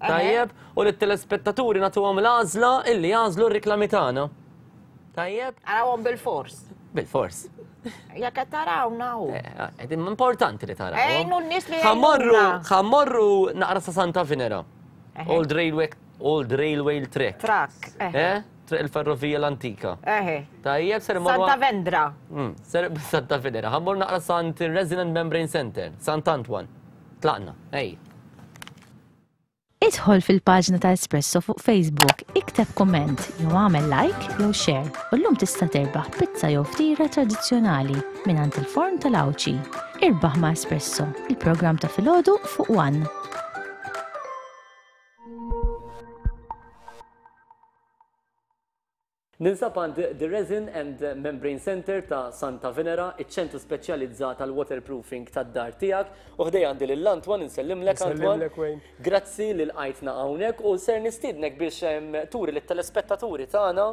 Tajjeb, u lit-telespettaturi nagħtuhom l-għażla illi jagħżlu r-riklami tagħna. Tajjeb? Arawhom bil-fors. Bil-fors. Jekk qed tarawna hu. Eh, eh, importanti li taraw. Ejnu n-nies li Ħa mmorru, ħa mmorru naqra sa Santa Venera. Old Railway, Old Railway Track. Track. Eh? Triq il-ferrovija l-antika. Eħe. Tajjeb, ser immorru. Santa Vendra. Mm, ser Santa Venera. Ħa mmur naqra Sant Resident Membrane Center, Sant Antoine. Tlaqna, ej. Idħol fil-paġna ta' Espresso fuq Facebook, ikteb kumment jew agħmel like jew share u llum tista' terbaħ pizza jew ftira tradizzjonali mingħand il-forn tal-Għawdxi. Irbaħ ma' Espresso, il-programm ta' filgħodu fuq One. Ninsab għand The Resin and Membrane Centre ta' Santa Venera, iċ-ċentru speċjalizzat għall-waterproofing tad-dar tiegħek. U ħdejja għandi lil Antoine, insellimlek Antoine. Insellimlek Wayne. Grazzi li lqajtna hawnhekk u ser nistiednek biex turi lit-telespettaturi tagħna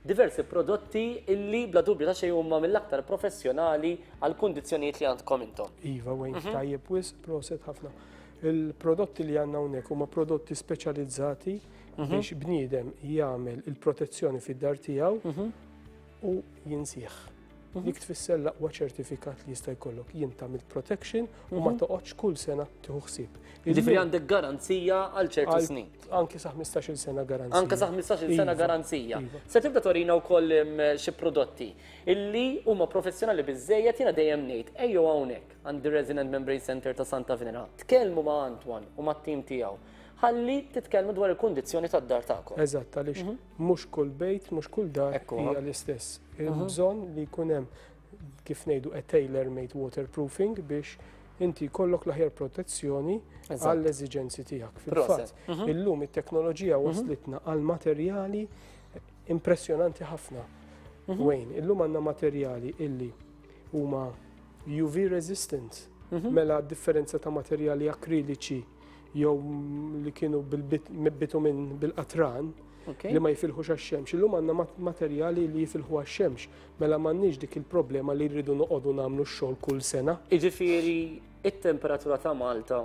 diversi prodotti illi bla dubju ta' xejn huma mill-aktar professjonali għall-kundizzjonijiet li għandkom intom. Iva Wayne, tajjeb wisq, proset ħafna. Il-prodotti li għandna hawnhekk huma prodotti speċjalizzati mhm. biex bniedem jagħmel il-protezzjoni fid-dar tiegħu mhm. u jinsih. Mhm. Dik tfisser l-aqwa ċertifikat li jista' jkollok. Jien tagħmel protection u ma toqgħodx kull sena tieħu ħsieb. Ġifieri għandek garanzija għal ċertu snin. Anki sa 15-il sena garanzija. Anke sa 15-il sena iva, garanzija. Iva. Se tibda torina wkoll xi prodotti illi huma professjonali biżejjed jiena dejjem ngħid ejjew hawnhekk. għand ir-Resin and Membrane Centre ta' Santa Venera. Tkellmu ma' Antoine u mat-tim tiegħu. Ħalli titkellmu dwar il-kundizzjoni tad-dar tagħkom. Eżatt, għaliex mhm. mhux kull bejt, mhux kull dar hija l-istess. Mhm. Bżonn li jkun hemm kif ngħidu a tailor-made waterproofing biex inti jkollok l-aħjar protezzjoni għall-eżiġenzi tiegħek. Fil-fatt, mhm. illum it-teknoloġija waslitna għal materjali impressjonanti ħafna. Wayne, illum għandna materjali illi huma UV resistant. Mhm. Mela differenza ta' materjali akriliċi. jew li kienu bil-bitumin bil-qatran li ma jifilħux għax-xemx. Illum għandna materjali li jifilħu għax-xemx, mela m'għandniex dik il-problema li rridu noqogħdu nagħmlu x-xogħol kull sena. Jiġifieri it-temperatura ta' Malta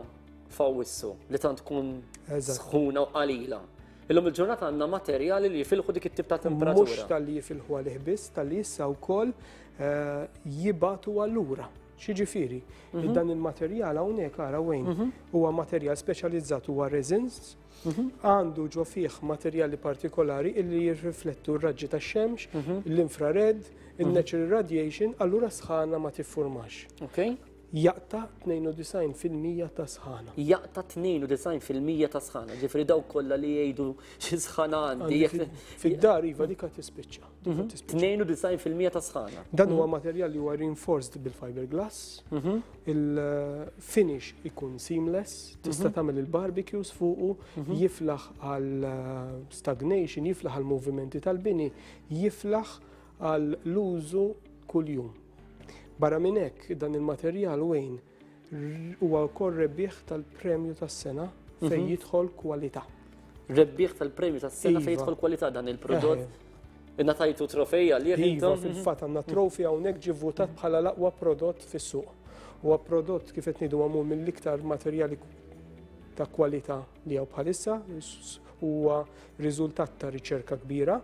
f'Awwissu li tant tkun sħuna u qalila. Illum il-ġurnata għandna materjali li jifilħu dik it-tip ta' temperatura. Mhux talli jifilħu għalih biss, talli issa wkoll eh, jibatu allura. X'jiġifieri? Li dan il-materjal hawnhekk ara Wayne, huwa materjal speċjalizzat huwa resins, għandu ġo fih materjali partikolari illi jirriflettu r-raġġi tax-xemx, l-infrared, il-natural radiation, allura sħana ma tiffurmax. Jaqta' 92% ta' sħana. Jaqta' 92% ta' sħana, ġifieri dawk kollha li jgħidu xi sħana għandi. Fid-dar iva dik tispiċċa. 92% ta' sħana. Dan huwa materjal li huwa reinforced bil-fiberglass. Mhm. Il-finish ikun seamless, tista' mhm. tagħmel il-barbecues fuqu, mhm. jiflaħ għal eh, stagnation, jiflaħ għal movimenti tal-bini, jiflaħ għal l-użu kuljum. Barra minn hekk dan il-materjal Wayne Huwa wkoll rebbieħ tal-Premju tas-Sena fejn mhm. jidħol kwalità. Rebbieħ tal-Premju tas-Sena fejn iva. jidħol kwalità dan il-prodott. Ingħatajtu trofej għalih Iva, intom? fil-fatt għandna trofi hawnhekk ġie votat bħala l-aqwa prodott fis-suq. Huwa prodott kif qed ngħidu magħmul mill-iktar materjali ta' kwalità li hawn bħalissa, huwa riżultat ta' riċerka kbira.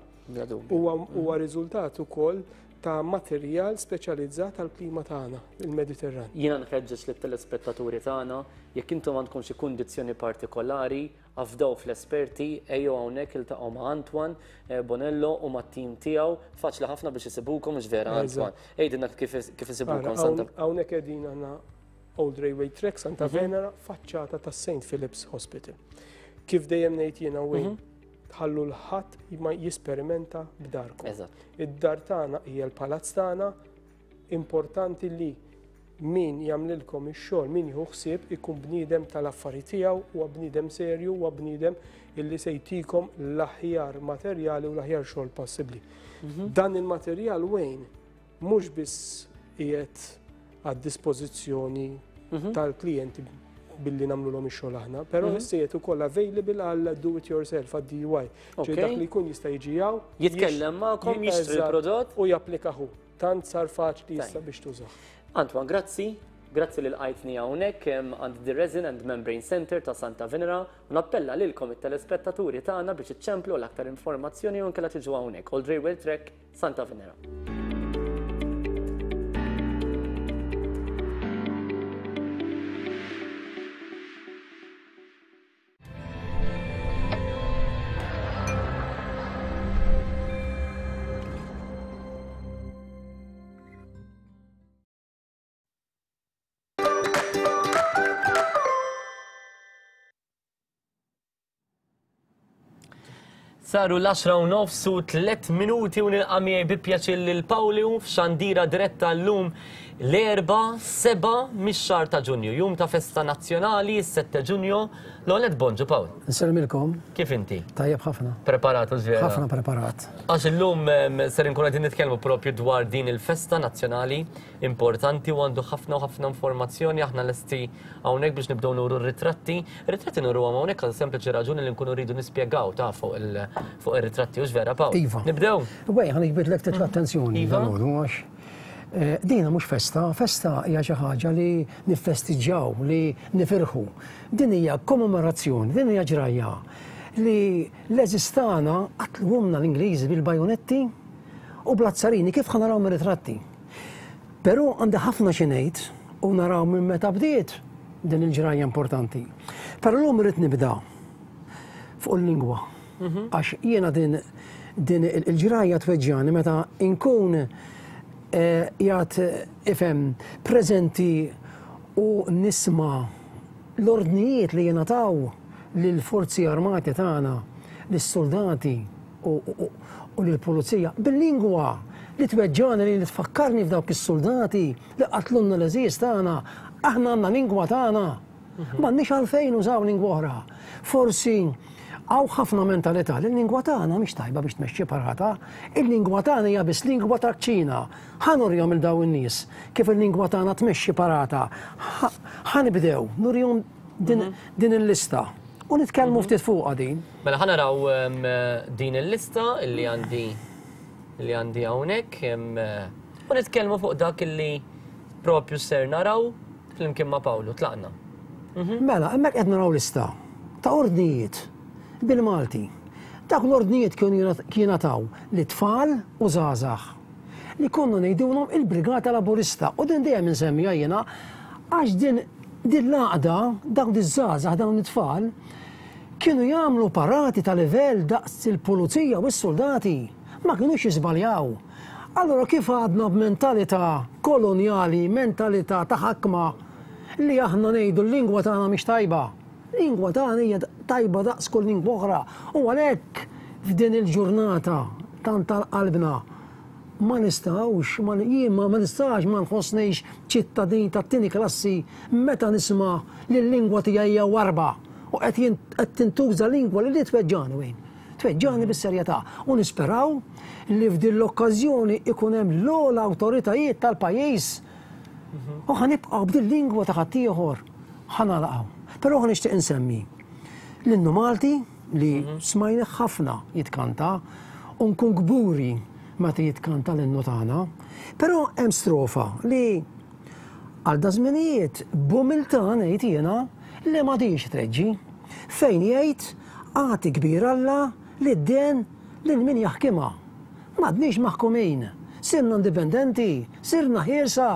Huwa riżultat ukoll ta' materjal speċjalizzat għall-klima tagħna, il-Mediterran. Jiena nħeġġeġ lit-telespettaturi tagħna, jekk intom għandkom xi kundizzjoni partikolari, afdaw fl-esperti, ejjew hawnhekk iltaqgħu ma' Antoine eh, Bonello u mat-tim tiegħu, faċli ħafna biex isibukom mhux vera Antoine. Għidilna kif isibukom Santa. Hawnhekk qegħdin aħna Old Railway Track Santa mhm. Venera, faċċata tas St. Philip's Hospital. Kif dejjem ngħid jiena Wayne, mhm. Tħallu 'l ħadd ma jisperimenta b'darkom. Id-dar tagħna hija l-palazz tagħna, importanti li min jagħmlilkom ix-xogħol, min jieħu ħsieb ikun bniedem tal-affari tiegħu, huwa bniedem serju, huwa bniedem illi se jtikom l-aħjar materjali u l-aħjar xogħol possibbli. Mhm. Dan il-materjal Wayne mhux biss qiegħed għad-dispożizzjoni mhm. tal-klijenti billi nagħmluhom ix-xogħol aħna, però mhm. issa qiegħed ukoll available għal do it yourself għad DIY. Ġej dak li jkun jista' jiġi hawn. Jitkellem magħkom, jixtri l-prodott u japplikahu. Tant sar faċli issa biex tużah. Antoine, grazzi. Grazzi li lqajtni hawnhekk għand The Resin and Membrane Center ta' Santa Venera u nappella lilkom it-telespettaturi tagħna biex iċċemplu għal aktar informazzjoni u nkella tiġu hawnhekk. Old Railway Track, Santa Venera. Saru l-10 u nofs u 3 minuti u nilqa' miegħi bi pjaċir lil Pawlu f'xandira diretta llum l-Erbgħa 7 mix-xahar ta' Ġunju, jum ta' festa nazzjonali, is-7 Ġunju. L-ewwel nett bonġu Pawl. Insellmilkom. Kif inti? Tajjeb ħafna. Preparat u vera? Ħafna preparat. Għax illum ser inkunu qegħdin nitkellmu propju dwar din il-festa nazzjonali importanti u għandu ħafna u ħafna informazzjoni aħna lesti hawnhekk biex nibdew nuru r-ritratti. Ir-ritratti nuruhom hawnhekk għal sempliċi raġuni li nkunu rridu nispjegaw ta' fuq ir-ritratti hux vera Pawl? Iva. Nibdew? Wej, ħa niġbidlek ftit l-attenzjoni iva. dalgħodu għax eh, dina mhux festa, festa hija xi ħaġa li niffestiġġjaw, li nifirħu. Din hija kommemorazzjoni, din hija ġrajja li l-għeżież tagħna qatluhomna l-Ingliżi bil-bajonetti u bl-azzarini kif ħa naraw mir-ritratti. Però għandi ħafna xi ngħid u naraw minn meta bdiet din il-ġrajja importanti. Però llum irrid nibda fuq il-lingwa. Mhm. Għax jiena din din il-ġrajja tweġġani meta nkun eh, jgħat ifhem preżenti u nisma' l-ordnijiet li jingħataw lill-forzi armati tagħna, lis-soldati u lill-pulizija bil-lingwa li tweġġagħni li tfakkarni f'dawk is-suldati li qatlulna l-għeżież tagħna. Aħna għandna lingwa tagħna. Mhm. M'għandniex għalfejn użaw lingwa oħra. Forsi hawn ħafna mentalità li l-lingwa tagħna mhix tajba biex tmexxi parata, il-lingwa tagħna hija biss lingwa ta' kċina. Ħa nurihom il dawn in-nies kif il-lingwa tagħna tmexxi parata. Ħa nibdew nurihom din il-lista u nitkellmu ftit fuqha din. Mela ħa naraw din il-lista illi għandi li għandi hawnhekk u nitkellmu fuq dak illi propju ser naraw flimkien ma' Pawlu. Tlaqna. Mela, hemmhekk qed naraw lista ta' ordnijiet bil-Malti. Dawk l-ordnijiet kienu jingħataw lit-tfal u żgħażagħ li konna ngħidulhom il-Brigata Laburista u din dejjem insemmiha jiena għax din din l-għaqda, dawn iż-żgħażagħ, dawn it-tfal, kienu jagħmlu parati ta' livell daqs il-pulizija u s-suldati. Ma kinux jiżbaljaw. Allura kif għadna b'mentalità kolonjali, mentalità ta' ħakma li aħna ngħidu l-lingwa tagħna mhix tajba? Lingwa tagħna hija tajba daqs kull lingwa oħra u għalhekk f'din il-ġurnata tant għal qalbna ma nistgħux, jien ma nistax ma nħossnix ċittadin tat-tieni klassi meta nisma' li l-lingwa tiegħi hija warba u qed qed tintuża lingwa li li tweġġagħni wejn. Tweġġagħni bis-serjetà u nisperaw li f'din l-okkażjoni ikun hemm l-ogħla awtoritajiet tal-pajjiż u ħa nibqgħu b'din lingwa ta' ħaddieħor. Ħa nagħlaq hawn. Però ħa nixtieq insemmi l-innu Malti li smajnih ħafna jitkanta u nkun kburi meta jitkanta l-innu tagħna. Però hemm strofa li għal da żminijiet b'umiltà ngħid jiena li m'għadhiex treġġi. Fejn jgħid agħti kbir Alla lid-den lil min jaħkimha. M'għadniex maħkumin, sirna indipendenti, sirna ħielsa.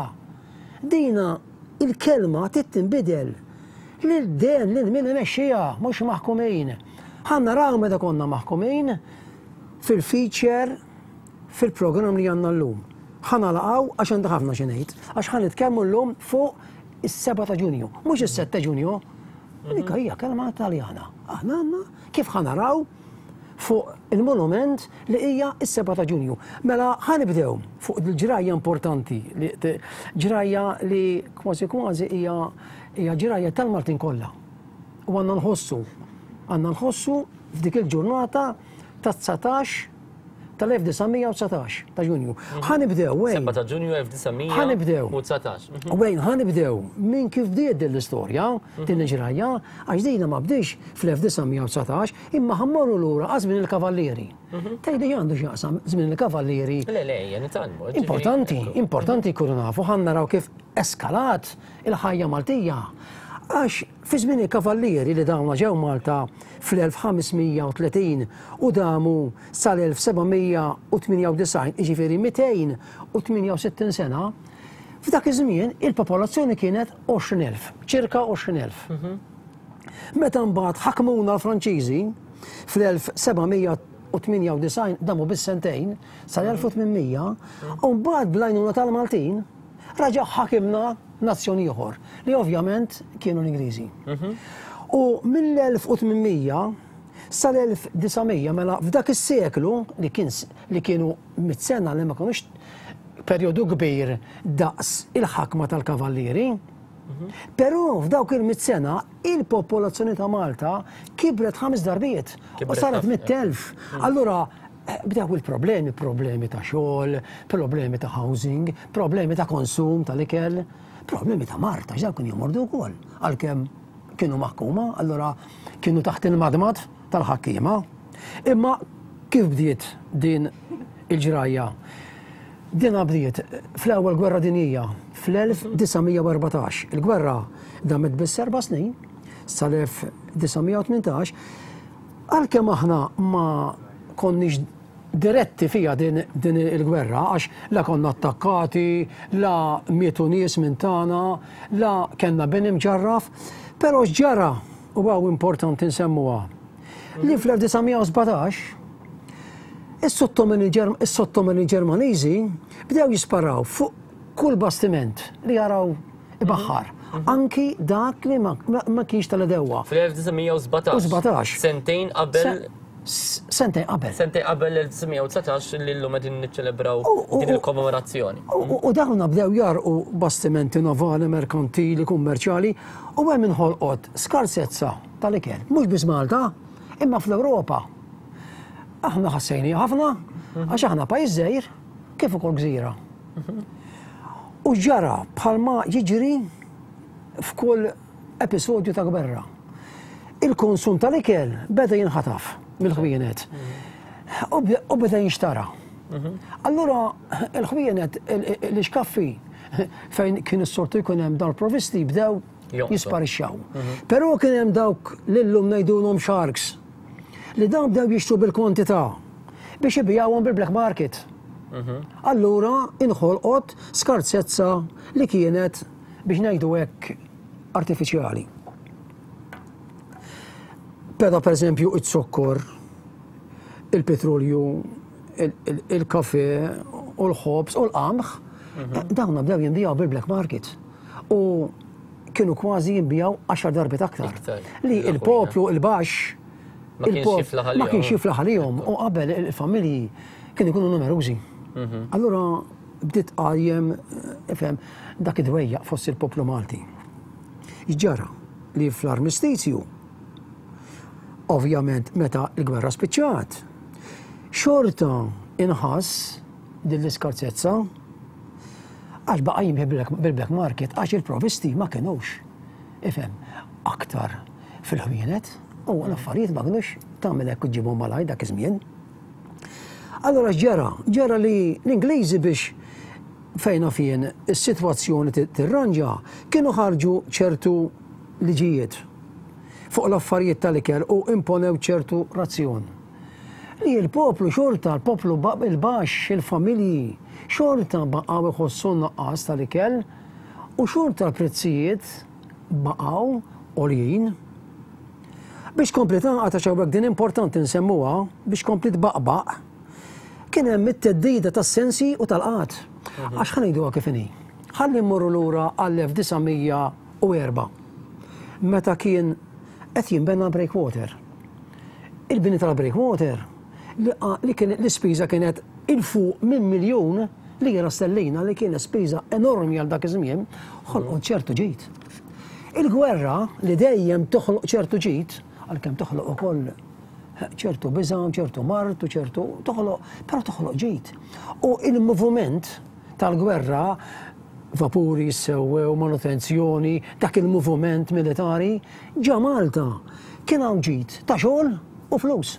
Dina Il-kelma trid tinbidel lil den lil min imexxiha, mhux maħkumin. Ħa naraw meta konna maħkumin fil-feature fil-programm li għandna llum. Ħa nagħlaq hawn għax għandi ħafna xi ngħid, għax ħa nitkellmu llum fuq is-seba' ta' Ġunju, mhux is-sette Ġunju. Dik hija kelma Taljana. Aħna għandna kif ħa naraw fuq il-monument li hija s-7 ta' Ġunju. Mela ħa nibdew fuq il-ġrajja importanti, ġrajja li kważi kważi hija hija ġrajja tal-Maltin kollha. U għandna nħossu, għandna nħossu f'dik il-ġurnata ta' 19 tal-1919 ta' Ġunju. Ħa nibdew, wejn. 7 ta' Ġunju 1919. Ħa nibdew. Wejn, ħa nibdew minn kif bdiet din l-istorja, din il-ġrajja, għax dina ma bdiex fl-1919, Imma ħa mmorru lura għal żmien il-Kavallieri. Tgħidli x'għandu x'jaqsam żmien il-Kavallieri? Le, le, ejja nitgħallmu. Importanti, importanti jkunu nafu, ħa naraw kif eskalat il-ħajja Maltija. Għax fi żmien il-Kavallieri li dawna ġew Malta fl-1530 u damu sal-1798, jiġifieri 268 sena, f'dak iż-żmien il-popolazzjoni kienet 20,000, ċirka 20,000. Meta mbagħad ħakmuna l-Franċiżi fl-1798 damu biss sentejn sal-1800 u mbagħad bl-għajnuna tal-Maltin raġa' ħakimna nazzjon ieħor li ovvjament kienu l-Ingliżi. U mill-1800 sal-1900 mela f'dak is-seklu li kien li kienu mit sena li ma kinux perjodu kbir daqs il-ħakma tal-kavallieri, Però f'dawk il-mit sena il-popolazzjoni ta' Malta kibret ħames darbiet u saret 100,000. Allura eh, bdew il-problemi, problemi ta' xogħol, problemi ta' housing, problemi ta' konsum tal-ikel, problemi ta' mard, għax dawk kienu jomordu wkoll għalkemm kienu maħkuma, allura kienu taħt il-madmad tal-ħakkiema. Imma kif bdiet din il-ġrajja? Din bdiet fl-Ewwel Gwerra Dinjija fl-1914. Il-gwerra damet biss erba' snin, sal-1918, għalkemm aħna ma konniex diretti fiha din, din il-gwerra, għax la konna attakkati, la mietu nies minn tagħna, la kellna bini mġarraf, però x'ġara, u hawn importanti nsemmuha, li fl-1917 is-sottomini Ġermaniżi bdew jisparaw fuq kull bastiment li jaraw ibaħħar, anki dak li ma kienx tal-edewwa. Fl-1917. 17. Sentejn qabel. Sentejn qabel. Sentejn qabel l-1919 li llum qegħdin niċċelebraw din il-kommemorazzjoni. U dawn bdew jarqu bastimenti navali, merkantili, kummerċjali u hemm inħolqot skarsezza tal-ikel. Mhux biss Malta, imma fl-Ewropa. Aħna ħassejniha ħafna għax aħna pajjiż żgħir kif ukoll gżira. U ġara bħalma jiġri f'kull episodju ta' gwerra. Il-konsum tal-ikel beda jinħataf mill-ħwienet u beda jinxtara. Allura il-ħwienet l-ixkaffi fejn kien is-soltu jkun hemm dawn il-provvisti bdew jisparixxaw. Però kien hemm dawk li llum ngħidulhom sharks li dawn bdew jixtru bil-kwantità biex ibigħuhom bil-black market. Allura inħolqot skarsezza li kienet biex ngħidu hekk artifiċjali. Però pereżempju iz-zokkor, il-petrolju, il-kafe u l-ħobż u l-qamħ, dawn bdew jinbiegħu bil-black market. U kienu kważi jinbiegħu għaxar darbiet aktar. Li il-poplu il-baxx ma kienx jiflaħ għalihom u qabel il-familji kienu jkunu numerużi. Allura bdiet tqajjem ifhem dak id-dwejjaq fost il-poplu Malti. Ġara li fl-armistizju, ovvjament meta l-gwerra spiċċat, xorta inħass din l-iskarsezza għax baqa' jimxi bil-black market għax il-provisti ma kinux ifhem aktar fil-ħwienet u l-affarijiet ma kinux tagħmel hekk u ġġibhom malajr dak iż-żmien. Allura x'ġara? Ġara li l-Ingliżi biex fejn naf jien is-sitwazzjoni tirranġa kienu ħarġu ċertu liġijiet fuq l-affarijiet tal-ikel u imponew ċertu razzjon. Li l-poplu xorta, l-poplu il-baxx, il-familji, xorta baqgħu jħossu n-nuqqas tal-ikel u xorta l-prezzijiet baqgħu għoljin. Biex tkompli tagħqad għax hawnhekk din importanti nsemmuha, biex tkompli tbaqbaq, kien hemm it-theddida tas-sensi u tal-qgħad. Għax ħa ngħiduha kif inhi. Ħalli mmorru lura għall-1904 meta kien qed jinbena l-breakwater. Il-bini tal-breakwater li kien l-ispiża kienet 'il fuq minn miljun lira stellina li kienet spiża enormi għal dak iż-żmien, ħolqot ċertu ġid. Il-gwerra li dejjem toħloq ċertu ġid, għalkemm toħloq ukoll ċertu biża', ċertu mard u ċertu toħloq, però toħloq ġid. U il-moviment tal-gwerra, vapuri jissewwew, manutenzjoni, dak il-moviment militari, ġa Malta kien hawn ġid ta' xogħol u flus.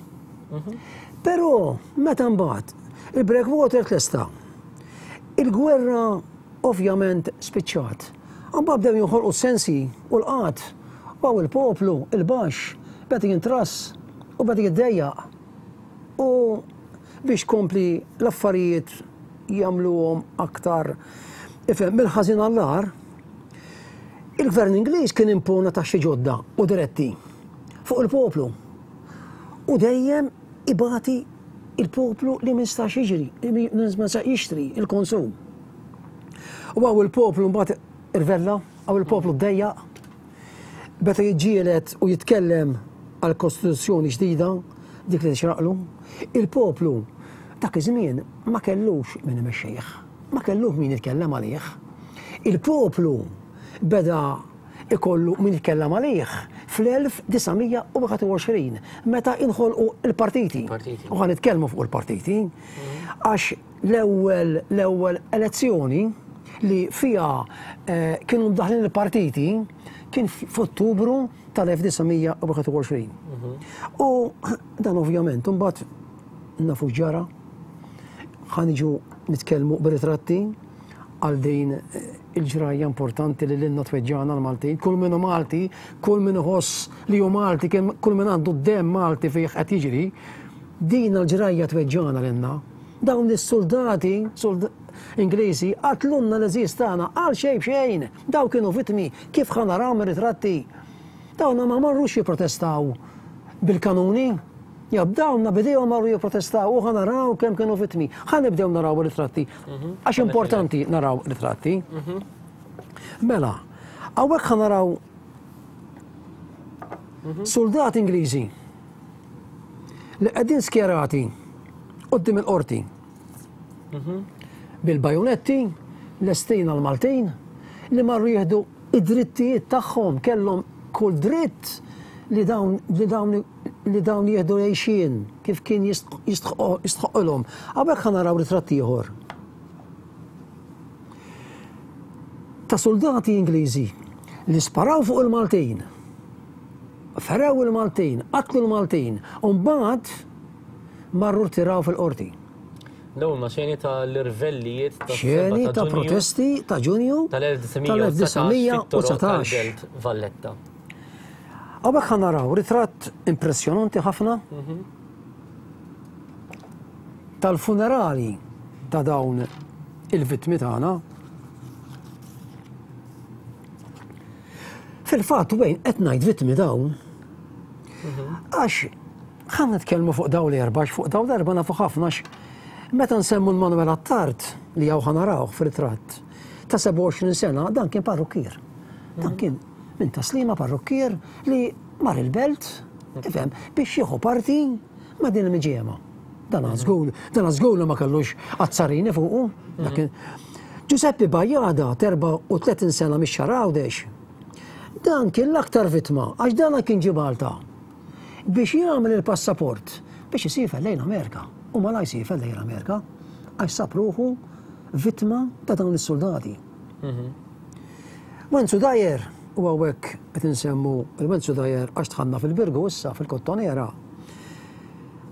Però meta mbagħad il-breakwater tlesta, il-gwerra ovvjament spiċċat. Imbagħad bdew jinħolqu s-sensi u l-qgħad. U hawn il-poplu, il-baxx, beda jintrass u beda jiddejjaq. U biex tkompli l-affarijiet jagħmluhom aktar, ifhem, mill-ħażin għall-agħar, il-Gvern Ingliż kien impona taxxi ġodda u diretti fuq il-poplu. U dejjem ibati il-poplu li ma jistax jiġri, li ma jistax jixtri, il-konsum. U hawn il-poplu mbagħad irvella, hawn il-poplu ddejjaq, beda jiġġieled u jitkellem għal kostituzzjoni ġdida, dik li tixraqlu. Il-poplu dak iż-żmien ma kellux min imexxih, ma kellux min jitkellem għalih. Il-poplu beda ikollu min jitkellem għalih fl-1921 meta inħolqu l-partiti. U ħa nitkellmu fuq il-partiti. Għax l-ewwel l-ewwel elezzjoni li fiha kienu mdaħħlin il-partiti kien f'Ottubru tal-1921. U dan ovvjament imbagħad nafu x'ġara. Ħa niġu nitkellmu b'ritratti għal din il-ġrajja importanti li lilna tweġġagħna l-Maltin. Kull min hu Malti, kull min iħoss li hu Malti, kull min għandu d-demm Malti fih qed jiġri, din l-ġrajja tweġġagħna lilna. Dawn is-suldati Ingliżi qatlulna l-għeżież tagħna għal xejn b'xejn. Dawn kienu vittmi kif ħa naraw mir-ritratti. Dawna ma marrux jipprotestaw bil-kanuni. Jew dawna b'idejhom marru jipprotestaw u ħa naraw kemm kienu vittmi. Ħa nibdew naraw ir-ritratti. Għax importanti naraw ritratti. Mela, hawnhekk ħa naraw soldati Ingliżi li qegħdin skjerati quddiem il-qorti. Bil-bajonetti, lestin għall-Maltin li marru jieħdu id-drittijiet tagħhom, kellhom kull dritt li dawn li dawn li dawn jieħdu l-għixien kif kien jistħoqqilhom. Hawnhekk ħa naraw ritratt ieħor ta' suldati Ingliżi Li sparaw fuq il-Maltin, ferew il-Maltin, qatlu l-Maltin, u mbagħad marru rtiraw fil-qorti. Dawn huma xeni ta' l-irvellijiet ta' Xeni ta' protesti ta' Ġunju tal-1919 tal-1919. Valletta. Hawnhekk ħa naraw ritratt impressjonanti ħafna tal-funerali ta' dawn il-vittmi tagħna. Fil-fatt wejn qed ngħid vittmi dawn għax ħa nitkellmu fuq dawn l-erba' għax fuq dawn l-erba' nafu ħafna għax meta nsemmu l-Manuel Attard li hawn ħa narawh fir-ritratt ta' 27 sena dan kien parrukkier. Dan kien minn Tas-Sliema parrukkier li mar il-belt, tifhem, biex jieħu parti ma' din il-miġiema. Dan żgur, dan żgur li ma kellux azzarini fuqu. Dak kien Giuseppe Bajada, 34 sena mix-Xagħar Għawdex. Dan kien l-aktar vittma għax dan kien ġie Malta biex jagħmel il-passaport biex isiefer lejn Amerika u malajr siefer lejn Amerika għax sab ruħu vittma ta' dawn is-suldati. Wenzu Dajer, u hawnhekk qed insemmu l-Wenzu Dajer għax dħalna fil-Birgu issa fil-Kottonera.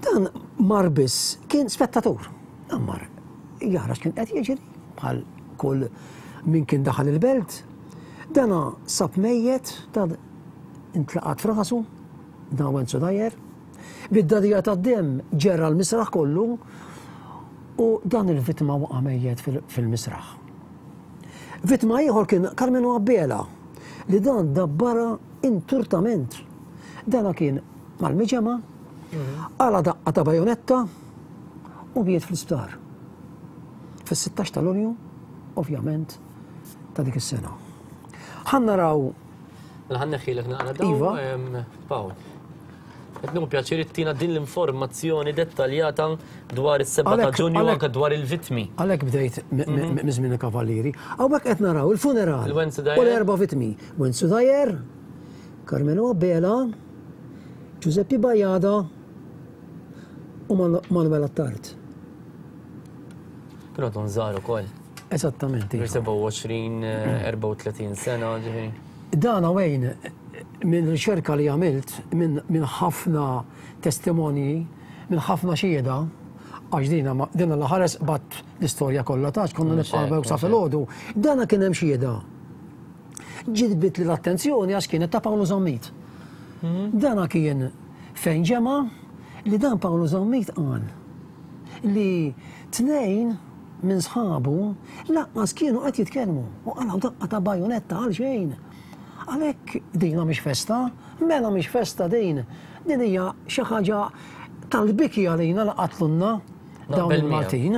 Dan mar biss kien spettatur. Dan mar jara x'kien qed jiġri bħal kull min kien daħal il-belt. Dana sab mejjet, dan intlaqat f'rasu, dan Wenzu Dajer. Bid-dadija tad-demm ġerra l-misraħ kollu u dan il-vittma waqa' mejjet fil-misraħ. Vittma ieħor kien Karmenu Abela li dan dabbarha inturtament. Dana kien mal-miġemgħa, qala' daqqa ta' bajonetta u miet fl-isptar. Fis-16 ta' Lulju, ovvjament, ta' dik is-sena. Ħa naraw Mela ħa nneħħilek naqra dawn. Iva. Pawl. Qed nieħu pjaċir ittina din l-informazzjoni dettaljata dwar is-7 ta' Ġunju anke dwar il-vittmi. Għalhekk bdejt minn żmien il-Kavallieri. Hawnhekk qed naraw il-funeral u l-erba' vittmi. Wenzu Dajer, Carmelo Abela, Giuseppe Bajada u Manuel Attard. Kienu għadhom żgħar ukoll. Eżattament. 27, 34 sena, ġifieri. Dan hawn minn riċerka li għamilt minn ħafna testimonji, minn ħafna xhieda, għax dina dina la ħares qbadt l-istorja kollha ta' konna nibqgħu sa filgħodu, dana kien hemm xhieda. Ġibditli l-attenzjoni għax kienet ta' Pawlu Zammit. Dana kien fejn ġemgħa li dan Pawlu Zammit qal li tnejn minn sħabu lanqas kienu qed jitkellmu u qalgħu daqqa ta' bajunetta għal xejn. Għalhekk dina mhix festa, mela mhix festa din. Din hija xi ħaġa tal-biki għalina li qatlunna dawn il-Maltin.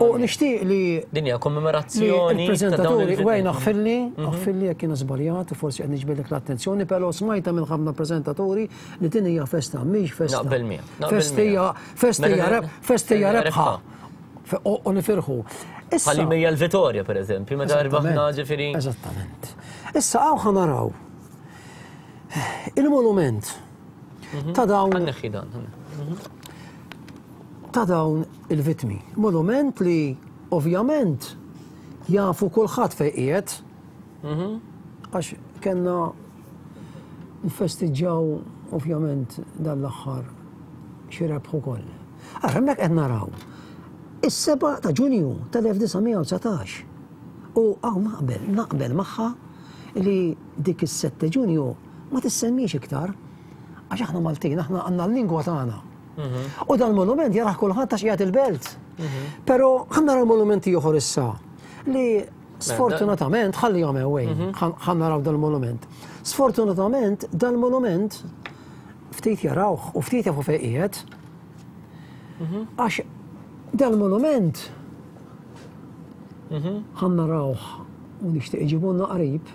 U nixtieq li Din hija kommemorazzjoni il-preżentaturi wejn aħfirli, aħfirli jekk jiena żbaljat u forsi qed niġbidlek l-attenzjoni, però smajta minn ħafna preżentaturi li din hija festa, mhix festa. Naqbel miegħek. Festa hija festa hija rebħa. U nifirħu. Issa. Bħal hija l-Vitorja, per eżempju, meta rbaħna ġifieri. Eżattament. Issa hawn ħa naraw il-monument mhm. ta' dawn. Ħanneħħi dan. Mhm. Ta' dawn il-vitmi. Monument li ovvjament jafu kulħadd fejn qiegħed. Mhm. Għax kellna nfestiġġaw ovvjament dan l-aħħar xi rebħ ukoll. Ara hemmhekk qed naraw is-7 ta' Ġunju tal-1919. U hawn naqbel, naqbel magħha li dik is-7 Ġunju ma tissemmiex iktar għax aħna Maltin, aħna għandna l-lingwa tagħna. Mhm. U dal-monument jarah kulħadd għax qiegħed il-belt. Mhm. Però ħa naraw monumenti oħor issa li sfortunatament ħalli jagħmel wejn, mhm. ħa naraw dal-monument. Sfortunatament dal-monument ftit jarawh u ftit jafu fejn qiegħed. Mhm. Għax dal-monument mhm. ħa narawh u nixtieq iġibulna qrib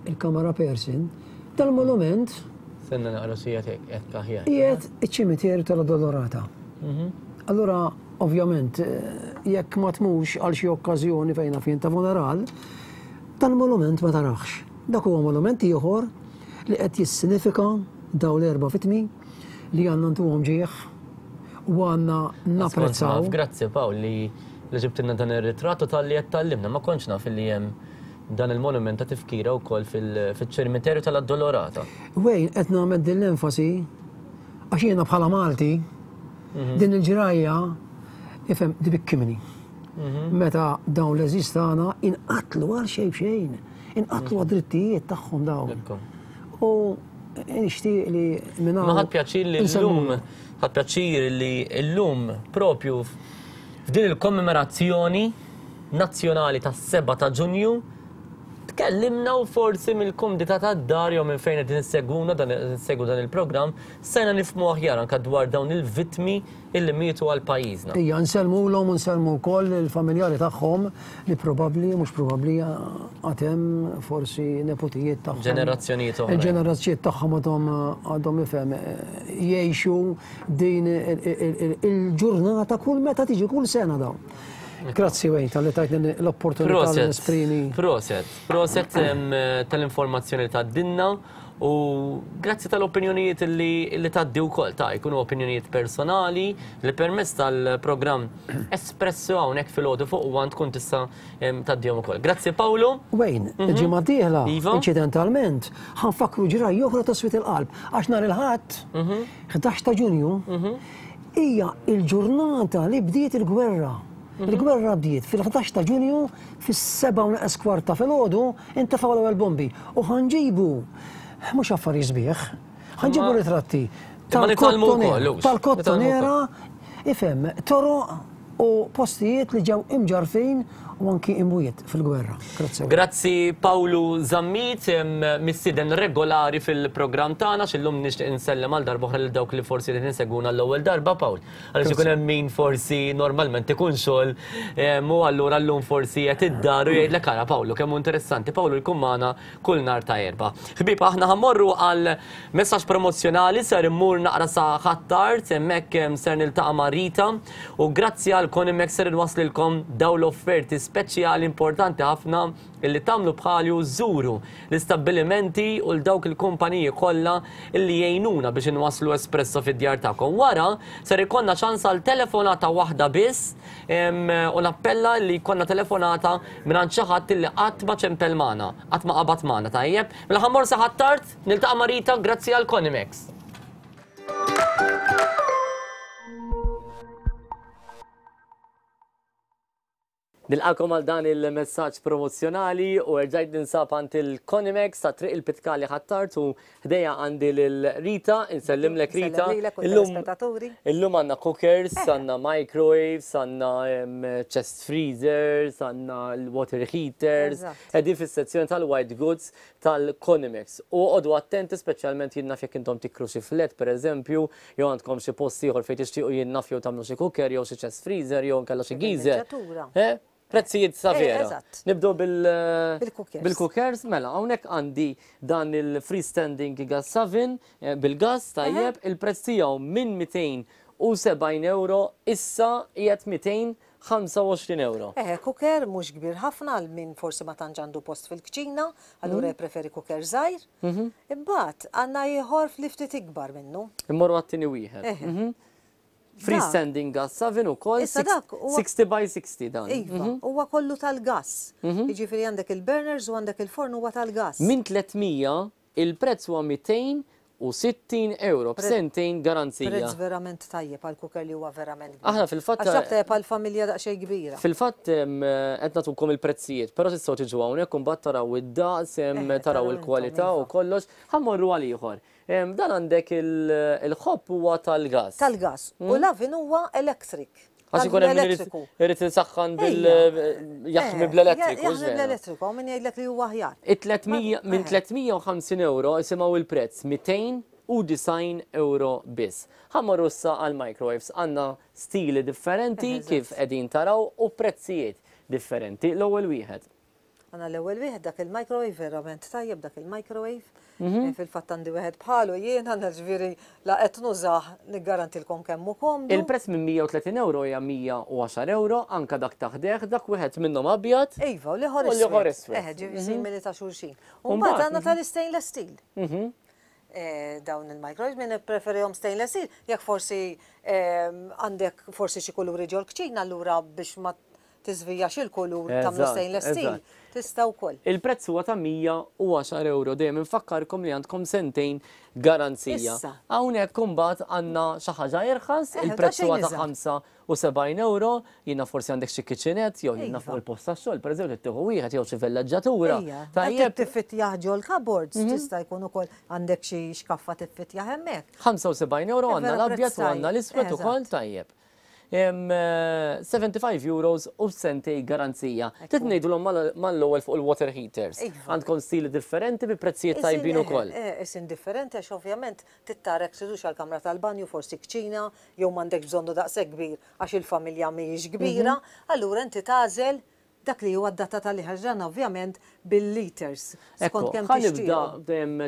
il-kamera person, dal-monument Senna naqra xi hekk aħjar. Qiegħed iċ-ċimiterju tal-Addolorata. Mhm. Allura, ovvjament, jekk ma tmux għal xi okkażjoni fejn naf jien ta' funeral, dal-monument ma taraħx. Dak huwa monument ieħor li qed jissinifika dawn l-erba' vittmi li għandna ntuhom ġieħ u għandna napprezzaw. Grazzi Pawl li li ġibtilna dan ir-ritratt u talli qed tgħallimna. Ma kontx naf li hemm dan il-monument ta' tifkira wkoll fiċ-ċimiterju tal-Addolorata. Wayne, qed nagħmel din l-enfasi għax jiena bħala Malti din il-ġrajja ifhem tbikkimni. Meta dawn l-għeżież tagħna inqatlu għal xejn b'xejn, inqatlu għad-drittijiet tagħhom dawn. U nixtieq li minn hawn. Ma ħadt pjaċir li llum, ħadt pjaċir li llum propju f'din il-kommemorazzjoni nazzjonali tas-7 ta' Ġunju tkellimna u forsi mill-kumdità tad-dar jew minn fejn qegħdin issegwuna dan issegwu dan il-programm stajna nifhmu aħjar anke dwar dawn il-vittmi illi mietu għal pajjiżna. Ija, nsellmulhom u nsellmu wkoll lill-familjari tagħhom li probabbli, mhux probabbli, għad hemm forsi neputijiet tagħhom. Ġenerazzjonijiet oħra. Il-ġenerazzjonijiet tagħhom għadhom għadhom ifhem jgħixu din il-ġurnata kull meta tiġi kull sena dawn. Grazzi Wayne talli tajtni l-opportunità li nesprimi. Proset, proset tal-informazzjoni li tgħaddilna u grazzi tal-opinjonijiet li tgħaddi wkoll ta' jkunu opinjonijiet personali li permezz tal-programm Espresso hawnhekk filgħodu fuq One tkun tista' tgħaddihom ukoll. Grazzi Pawlu. Wayne, il-ġimgħa d-dieħla, Iva. inċidentalment, ħa nfakkru ġrajja oħra ta' swied il-qalb għax nhar il-Ħadd, 11 ta' Ġunju, Hija l-ġurnata li bdiet il-gwerra. Il-gwerra bdiet fil-11 ta' Ġunju fis-sebgħa u neqes kwart ta' filgħodu intefgħu l-ewwel bombi u ħa nġibu mhux affarijiet sbieħ, ħa nġibu ritratti tal-Kottonera, ifhem, toroq u postijiet li ġew imġarrfin u anki imwiet fil-gwerra. Grazzi. Grazzi Pawlu Zammit, mistieden regolari fil-programm tagħna, x'illum nixtieq insellem għal darb'oħra lil dawk li forsi qegħdin isegwuna l-ewwel darba, Pawl. Għaliex ikun hemm min forsi normalment ikun xogħol u allura llum forsi qed id-dar u jgħidlek ara Pawlu kemm hu interessanti. Pawlu jkun magħna kull nhar ta' Erbgħa. Ħbieb, aħna ħa mmorru għal messaġġ promozzjonali, ser immur naqra sa Ħ'Attard, hemmhekk ser niltaqa' ma' Rita u grazzi għal Conimex ser inwasslilkom dawn l-offerti speċjali importanti ħafna illi tagħmlu bħali u żżuru l-istabbilimenti u 'l dawk il-kumpaniji kollha illi jgħinuna biex inwasslu espresso fid-djar tagħkom. Wara ser ikollna ċans għal telefonata waħda biss u nappella li jkollna telefonata mingħand xi ħadd illi qatt ma ċempel magħna, qatt ma qabad magħna, tajjeb? Mela ħa mmur sa Ħ'Attard, niltaqa' ma' Rita grazzi għal Conimex. Nilqakom għal dan il-messaġġ promozzjonali u erġajt ninsab għand il-Conimex ta' Triq il-Pitkali Ħ'Attard u ħdejja għandi lil Rita, insellimlek Rita. Illum illum għandna cookers, għandna microwaves, għandna chest freezers, għandna l-water heaters, qegħdin fis-sezzjoni tal-white goods tal-Conimex. U oqogħdu attenti speċjalment jien naf jekk intom tikru xi flat pereżempju, jew għandkom xi post ieħor fejn tixtiequ jien naf jew tagħmlu xi cooker jew xi chest freezer jew inkella xi geyser. Eh? Prezzijiet sa eh, vera. Nibdew bil-cookers. Bil-cookers, mela, hawnhekk għandi dan il-freestanding gas oven eh, bil-gas tajjeb, il-prezz tiegħu minn 270 euro issa qiegħed 225 euro. Eħe, cooker mhux kbir ħafna għal min forsi ma tantx għandu post fil-kċina, allura mhm. jpreferi cooker żgħir. Mhm. Imbagħad għandna ieħor fli ftit ikbar minnu. Immorru għat-tieni wieħed. Mhm. Freestanding gas oven ukoll 60 by 60 dan. Iva, mhm. huwa kollu tal-gas. Mhm. Jiġifieri għandek il-burners u għandek il-forn huwa tal-gas. Minn 300 il-prezz huwa 260 euro b'sentejn garanzija. Prezz verament tajjeb għal cooker li huwa verament kbir. Aħna fil-fatt. Għax dak tajjeb għal familja daqsxejn kbira. Fil-fatt qed nagħtukom il-prezzijiet, però tistgħu tiġu hawnhekk u mbagħad taraw id-daqs, taraw il-kwalità u iva. kollox. Ħa mmorru għal ieħor. Dan għandek il-ħobb huwa tal-gas. Tal-gas. U l-oven huwa electric. Għax ikun hemm irid isaħħan bil jaħmi bl-elettriku. Jaħmi bl-elettriku, hawn min jgħidlek li huwa aħjar. Minn 350 euro isimgħu il-prezz 290 euro biss. Ħa mmorru issa għall-microwaves. Għandna stili differenti kif qegħdin taraw u prezzijiet differenti. L-ewwel wieħed. Għandna l-ewwel wieħed dak il-microwave verament tajjeb dak il-microwave. Mhm. Eh, fil-fatt għandi wieħed bħalu jien għandna ġifieri la qed nużah niggarantilkom kemm hu komdu. Il-prezz minn 130 euro hija 110 euro, anka dak ta' ħdejh, dak wieħed minnhom abjad. Iva, u l-ieħor iswed. U l-ieħor iswed. Eh, ġifieri mhm. simili ta' xulxin. U mbagħad għandna mhm. tal-istainless steel. Eh, dawn il-microwaves min ippreferihom stainless steel, jekk forsi eh, għandek forsi xi kuluri ġol-kċina allura biex ma. tiżvijax il-kulur tagħmlu stainless steel, tista' wkoll. Il-prezz huwa ta' 110 ewro. Dejjem infakkarkom li għandkom sentejn garanzija. Issa. Hawnhekk imbagħad għandna xi ħaġa irħas, il-prezz huwa ta' 75 ewro, jiena forsi għandek xi kitchenette jew jiena fuq il-post tax-xogħol, pereżempju trid tieħu wieħed jew xi villeġġatura. Tajjeb. Tiffittjah ġol-cupboards, tista' jkun ukoll għandek xi xkaffa tiffittjah hemmhekk. 75 ewro għandna l-abjad u għandna l-iswed ukoll tajjeb. 75 euros u sentej garanzija. Trid ngħidulhom mal-ewwel fuq il-water heaters. Għandkom stili differenti bi prezzijiet tajbin ukoll. Isin differenti għax ovvjament trid tara jekk tridux għall-kamra tal-banju, forsi kċina, jew m'għandekx bżonnu daqshekk kbir għax il-familja mhijiex kbira, allura inti tagħżel dak li huwa d-data tal-ħaġa ovvjament bil-liters. Ekku, ħa nibda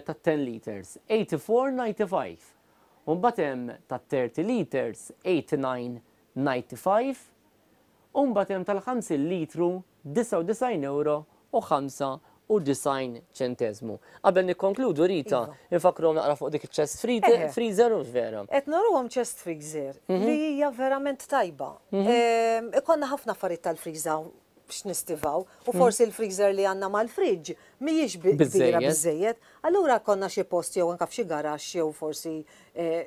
ta' 10 liters, 84.95. U mbagħad hemm ta' 30 liters, 89.95. U mbagħad hemm tal-50 litru, 99 euro u 95 ċentesmu. Qabel nikkonkludu Rita, infakruhom naqra fuq dik il-chest freezer u vera. Qed nuruhom chest freezer li hija verament tajba. Ikollna ħafna affarijiet tal-freezer x'nistivaw u forsi l-freezer li għandna mal-fridge mhijiex kbira biżejjed. Allura konna xi post jew anke f'xi garaxx jew forsi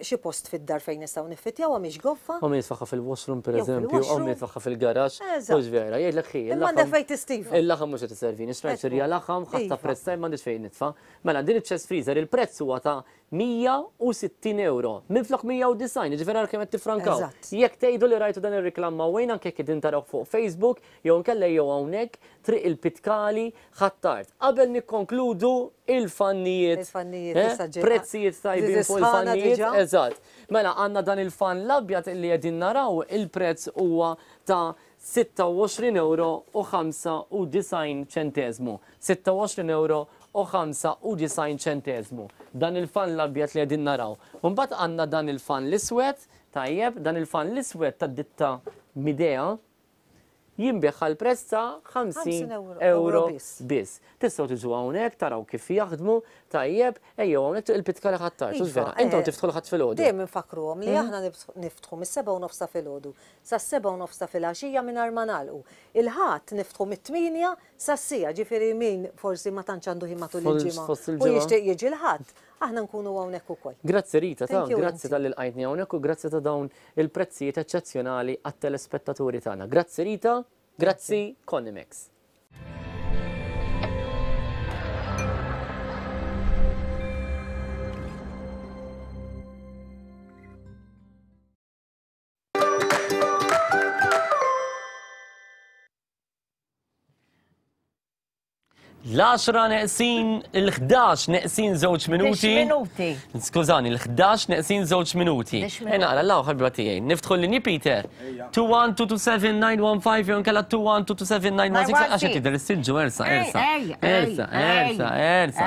xi post fid-dar fejn nistgħu niffitjawha mhix goffa. U min jitfaħħa fil-washroom pereżempju, u min jitfaħħa fil-garaxx, mhux vera, jgħidlek ħi. Imma għandek fejn tistiva. Il-laħam mhux qed iservini, xtrajt xirja laħam, ħadt ta' prezz tajjeb m'għandix fejn nitfa'. Mela din iċ-chest freezer il-prezz huwa ta' 160 euro, minflok 190, jiġifieri ara kemm qed tiffrankaw. Jekk tgħidu li rajtu dan ir-reklam ma' Wayne anke jekk qegħdin tarawh fuq Facebook jew inkella ejjew hawnhekk Triq il-Pitkali, Ħ'Attard. Qabel nikkonkludu il-fannijiet. Il-fannijiet issa ġejna. Prezzijiet tajbin fuq il-fannijiet. Eżatt. Mela għandna dan il-fan l-abjad illi qegħdin naraw il-prezz huwa ta' 26 euro u 95 ċenteżmu. 26 euro u 95 ċenteżmu. Dan il-fan l-abjad li qegħdin naraw. U mbagħad għandna dan il-fan l-iswed, tajjeb, dan il-fan l-iswed tad-ditta Midea jinbiegħ għal prezz ta' 50 euro biss. Tistgħu tiġu hawnhekk taraw kif jaħdmu, tajjeb, ejjew hawnhekk Triq il-Pitkali Ħ'Attard, hux vera? Intom tiftħu l-Ħadd filgħodu. Dejjem infakkruhom li aħna niftħu mis-sebgħa u nofs ta' filgħodu sas-sebgħa u nofs ta' filgħaxija mingħajr ma nagħlqu. Il-Ħadd niftħu mit-tmienja sas-siegħa, ġifieri min forsi ma tantx għandu ħin matul il-ġimgħa u jixtieq jiġi l-Ħadd, aħna nkunu hawnhekk ukoll. Grazzi Rita, ta' grazzi talli lqajtni hawnhekk u grazzi ta' dawn il-prezzijiet eċċezzjonali għat-telespettaturi tagħna. Grazzi Rita, grazzi Conimex. L-10 neqsin, il-11 neqsin żewġ minuti. minuti. Skużani, l-11 neqsin żewġ minuti. Naqra, l ħabba tiegħi. Niftħu l-linji Peter. 21227-915 jew nkella 21227-916 għax qed tidher is-silġu ersa, ersa. Ersa, ersa, ersa.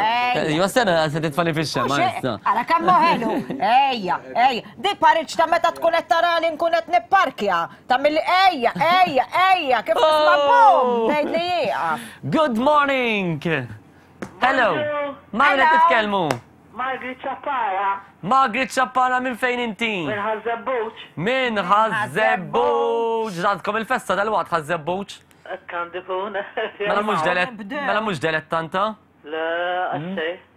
Iva sena se titfani fix-xemgħa ersa. Ara kemm ħelu. Ejja, ejja. Di pariġġ ta' meta tkun qed tara li nkun qed nipparkja. Ta' mill ejja, ejja, ejja, kif nisma' bum, tgħid li jieqaf. Good morning! Hello! Ma' min qed titkellmu? Margaret Ċappara. Margaret Ċappara minn fejn inti? Minn Ħaż-Żebbuġ. Minn Ħaż-Żebbuġ! Għandkom il-festa dalwaqt Ħaż-Żebbuġ? Hekk għandu jkun. Mela mhux delett, mela mhux delettanta? Le, għax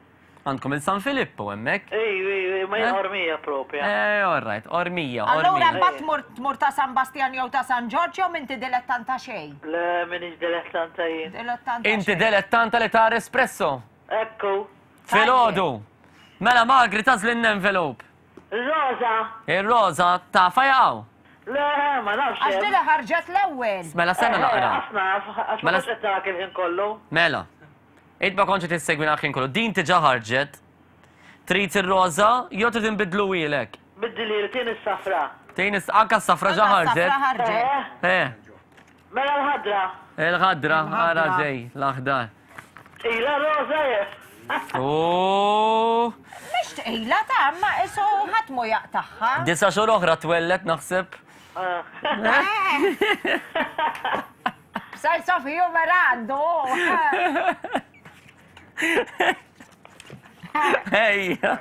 Għandkom il-San Filippo hemmhekk. Ej, ej, ej, ma jien Ormija propja. Eh, all right, Ormija, Allura Ormija. mbagħad tmur tmur ta' San Bastjan jew ta' San Ġorġ jew m'inti dilettanta xejn? Le, m'iniex dilettanta jien. Dilettanta Inti dilettanta li tara espresso. Ekku. Filgħodu. Mela Magri tagħżlilna envelope. Ir-roża. Ir-roża tafha jaqgħu. Le, ma nafx. Għax din li ħarġet l-ewwel. Mela stenna naqra. Għax naf, għax ma Mela- kontx qed narak il-ħin kollu. Mela. Int ma kontx qed issegwina l-ħin kollu. Din diġà ħarġet. Trid ir-roża jew trid inbiddluhielek? Biddilhieli, tieni s-safra. Tieni anka s-safra ġa ħarġet. Anka s-safra ħarġet. Eh. Mela l-ħadra. Il-ħadra, ara ġej, l-aħdar. Tqila roża jef. Oh! Mhix tqila ta' imma isu ħadd mhu jaqtagħha. Disa' xhur oħra twelled naħseb. Sense of humor għandu. Ejja.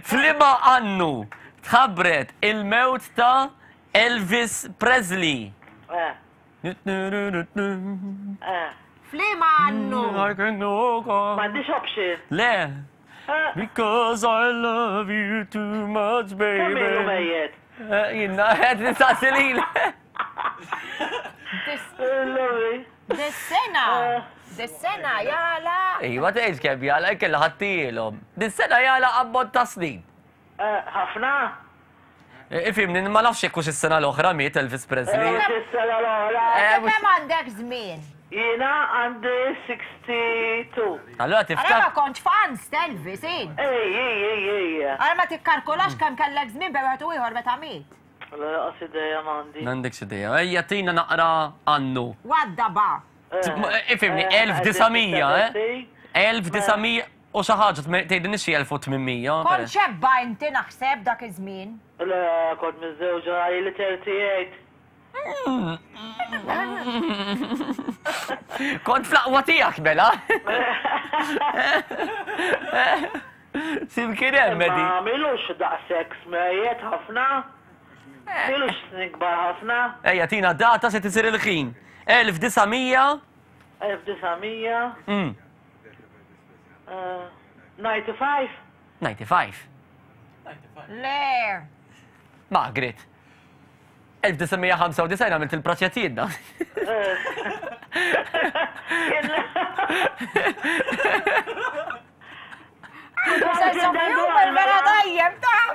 F'liema annu tħabbret il-mewt ta' Elvis Presley? Eh. Eh. F'liema annu? M'għandix option. Le. Because I love you too much, baby. Kemm ilu mejjet? Jiena, qed nistaqsi lil. Dis-sena, dis-sena jala. Iva tgħidx kemm jala, inkella ħadtielhom. Dis-sena jala ammont ta' snin. Ħafna? Ifhimni, ma nafx jekk hux is-sena l-oħra miet Elvis Presley. Mhux is-sena l-oħra. Inti kemm għandek żmien? Jiena għandi 62. Allura Ara tiftakar. ma kontx fans t'Elvis, int. Ej, ej, ej, ej. Ara ma tikkalkulax kemm kellek żmien bejn wieħed u ieħor meta miet. La laqas idea m'għandi. M'għandekx idea. Ejja tina naqra annu. Waddaba. Ifhimni, 1900, eh? 1900 u xi ħaġa, tgħidilniex xi 1800. Kont xebba inti naħseb dak iż-żmien. Le, kont miżżewġa ili 38. Kont fl-aqwa tiegħek mela. Simkien hemm Eddie. Ma milux daqshekk smejjet ħafna. Milux snin kbar ħafna. Ejja tina data se tisir il-ħin. 1900 1900 95. 95. Le. Margaret. 1995 għamilt il-praċettina. Vera tajjeb, ta'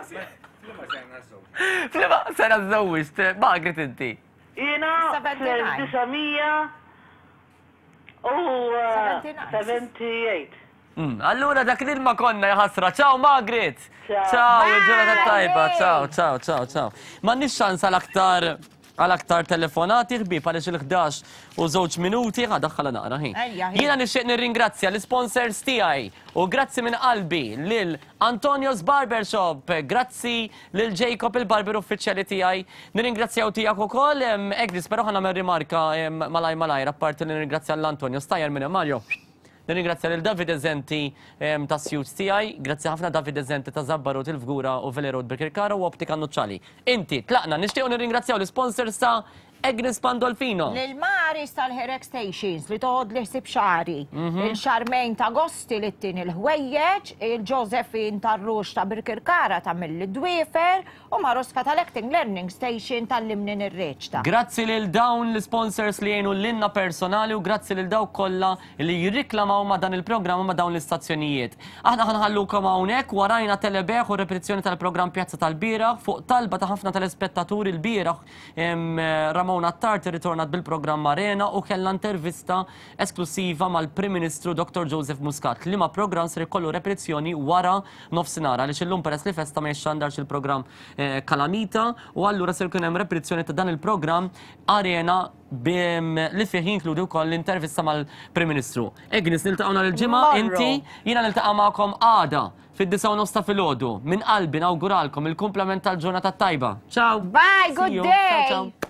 Flima sena żewwiġt, Margaret inti. Jiena fl-1900 u 78. Allura dak l-ilma konna jaħasra. Ciao Margaret! Ciao, il-ġurnata tajba. Ciao, ciao, ciao, ciao. M'għandniex ċans għal aktar għal aktar telefonati ħbieb għaliex il-11 u żewġ minuti ħa daħħala naqra ħin. Jiena nixtieq nirringrazzja l-isponsors tiegħi u grazzi minn qalbi lil Antonio's Barbershop, grazzi lil Jacob il-barber uffiċjali tiegħi. Nirringrazzjaw tiegħek ukoll, Eglis, però ħa nagħmel rimarka malaj malajr apparti li nirringrazzja lil Antonio Stajjar minn hemm Mario. Nirringrazzja lil Davide Zenti tas-suits tiegħi, grazzi ħafna Davide Zenti ta' Zabbarut il-Fgura u Vele Road Birkirkara u Optika Nuċċali. Inti, tlaqna, nixtiequ nirringrazzjaw l-isponsors ta' Agnes Pandolfino. Lil Maris tal-Hair Extensions li toħodli ħsieb xagħri, lil Charmaine ta' Gosti li ttini l-ħwejjeġ, il Josephine tar-Rux ta' Birkirkara tagħmilli d-dwiefer, U Maruska tal-Acting Learning Station tgħallimni nirreċta. Grazzi lil dawn l-isponsors li jgħinu lilna personali u grazzi lil dawk kollha li jirriklamaw ma' dan il-programm u ma' dawn l-istazzjonijiet. Aħna ħa nħallukom hawnhekk warajna telebejgħ u repetizzjoni tal-programm Pjazza tal-Bieraħ fuq talba ta' ħafna telespettaturi lbieraħ Ramona Attard irritornat bil-programm Arena u kellha intervista esklussiva mal-Prim Ministru Dottor Joseph Muscat liema programm ser ikollu repetizzjoni wara nofsinhar għaliex illum peress li festa ma jixxandarx il-programm Kalamita u allura ser ikun hemm repetizzjoni ta' dan il-programm Arena li fih jinkludi wkoll l-intervista mal-Prim Ministru. Agnes niltaqgħu nhar il-Ġimgħa, inti jiena niltaqa' magħkom għada fid-disgħa u nofs ta' filgħodu. Minn qalbi nawguralkom il-kumplament tal-ġurnata t-tajba. Ciao! Bye, good See you. day! Ciao, ciao.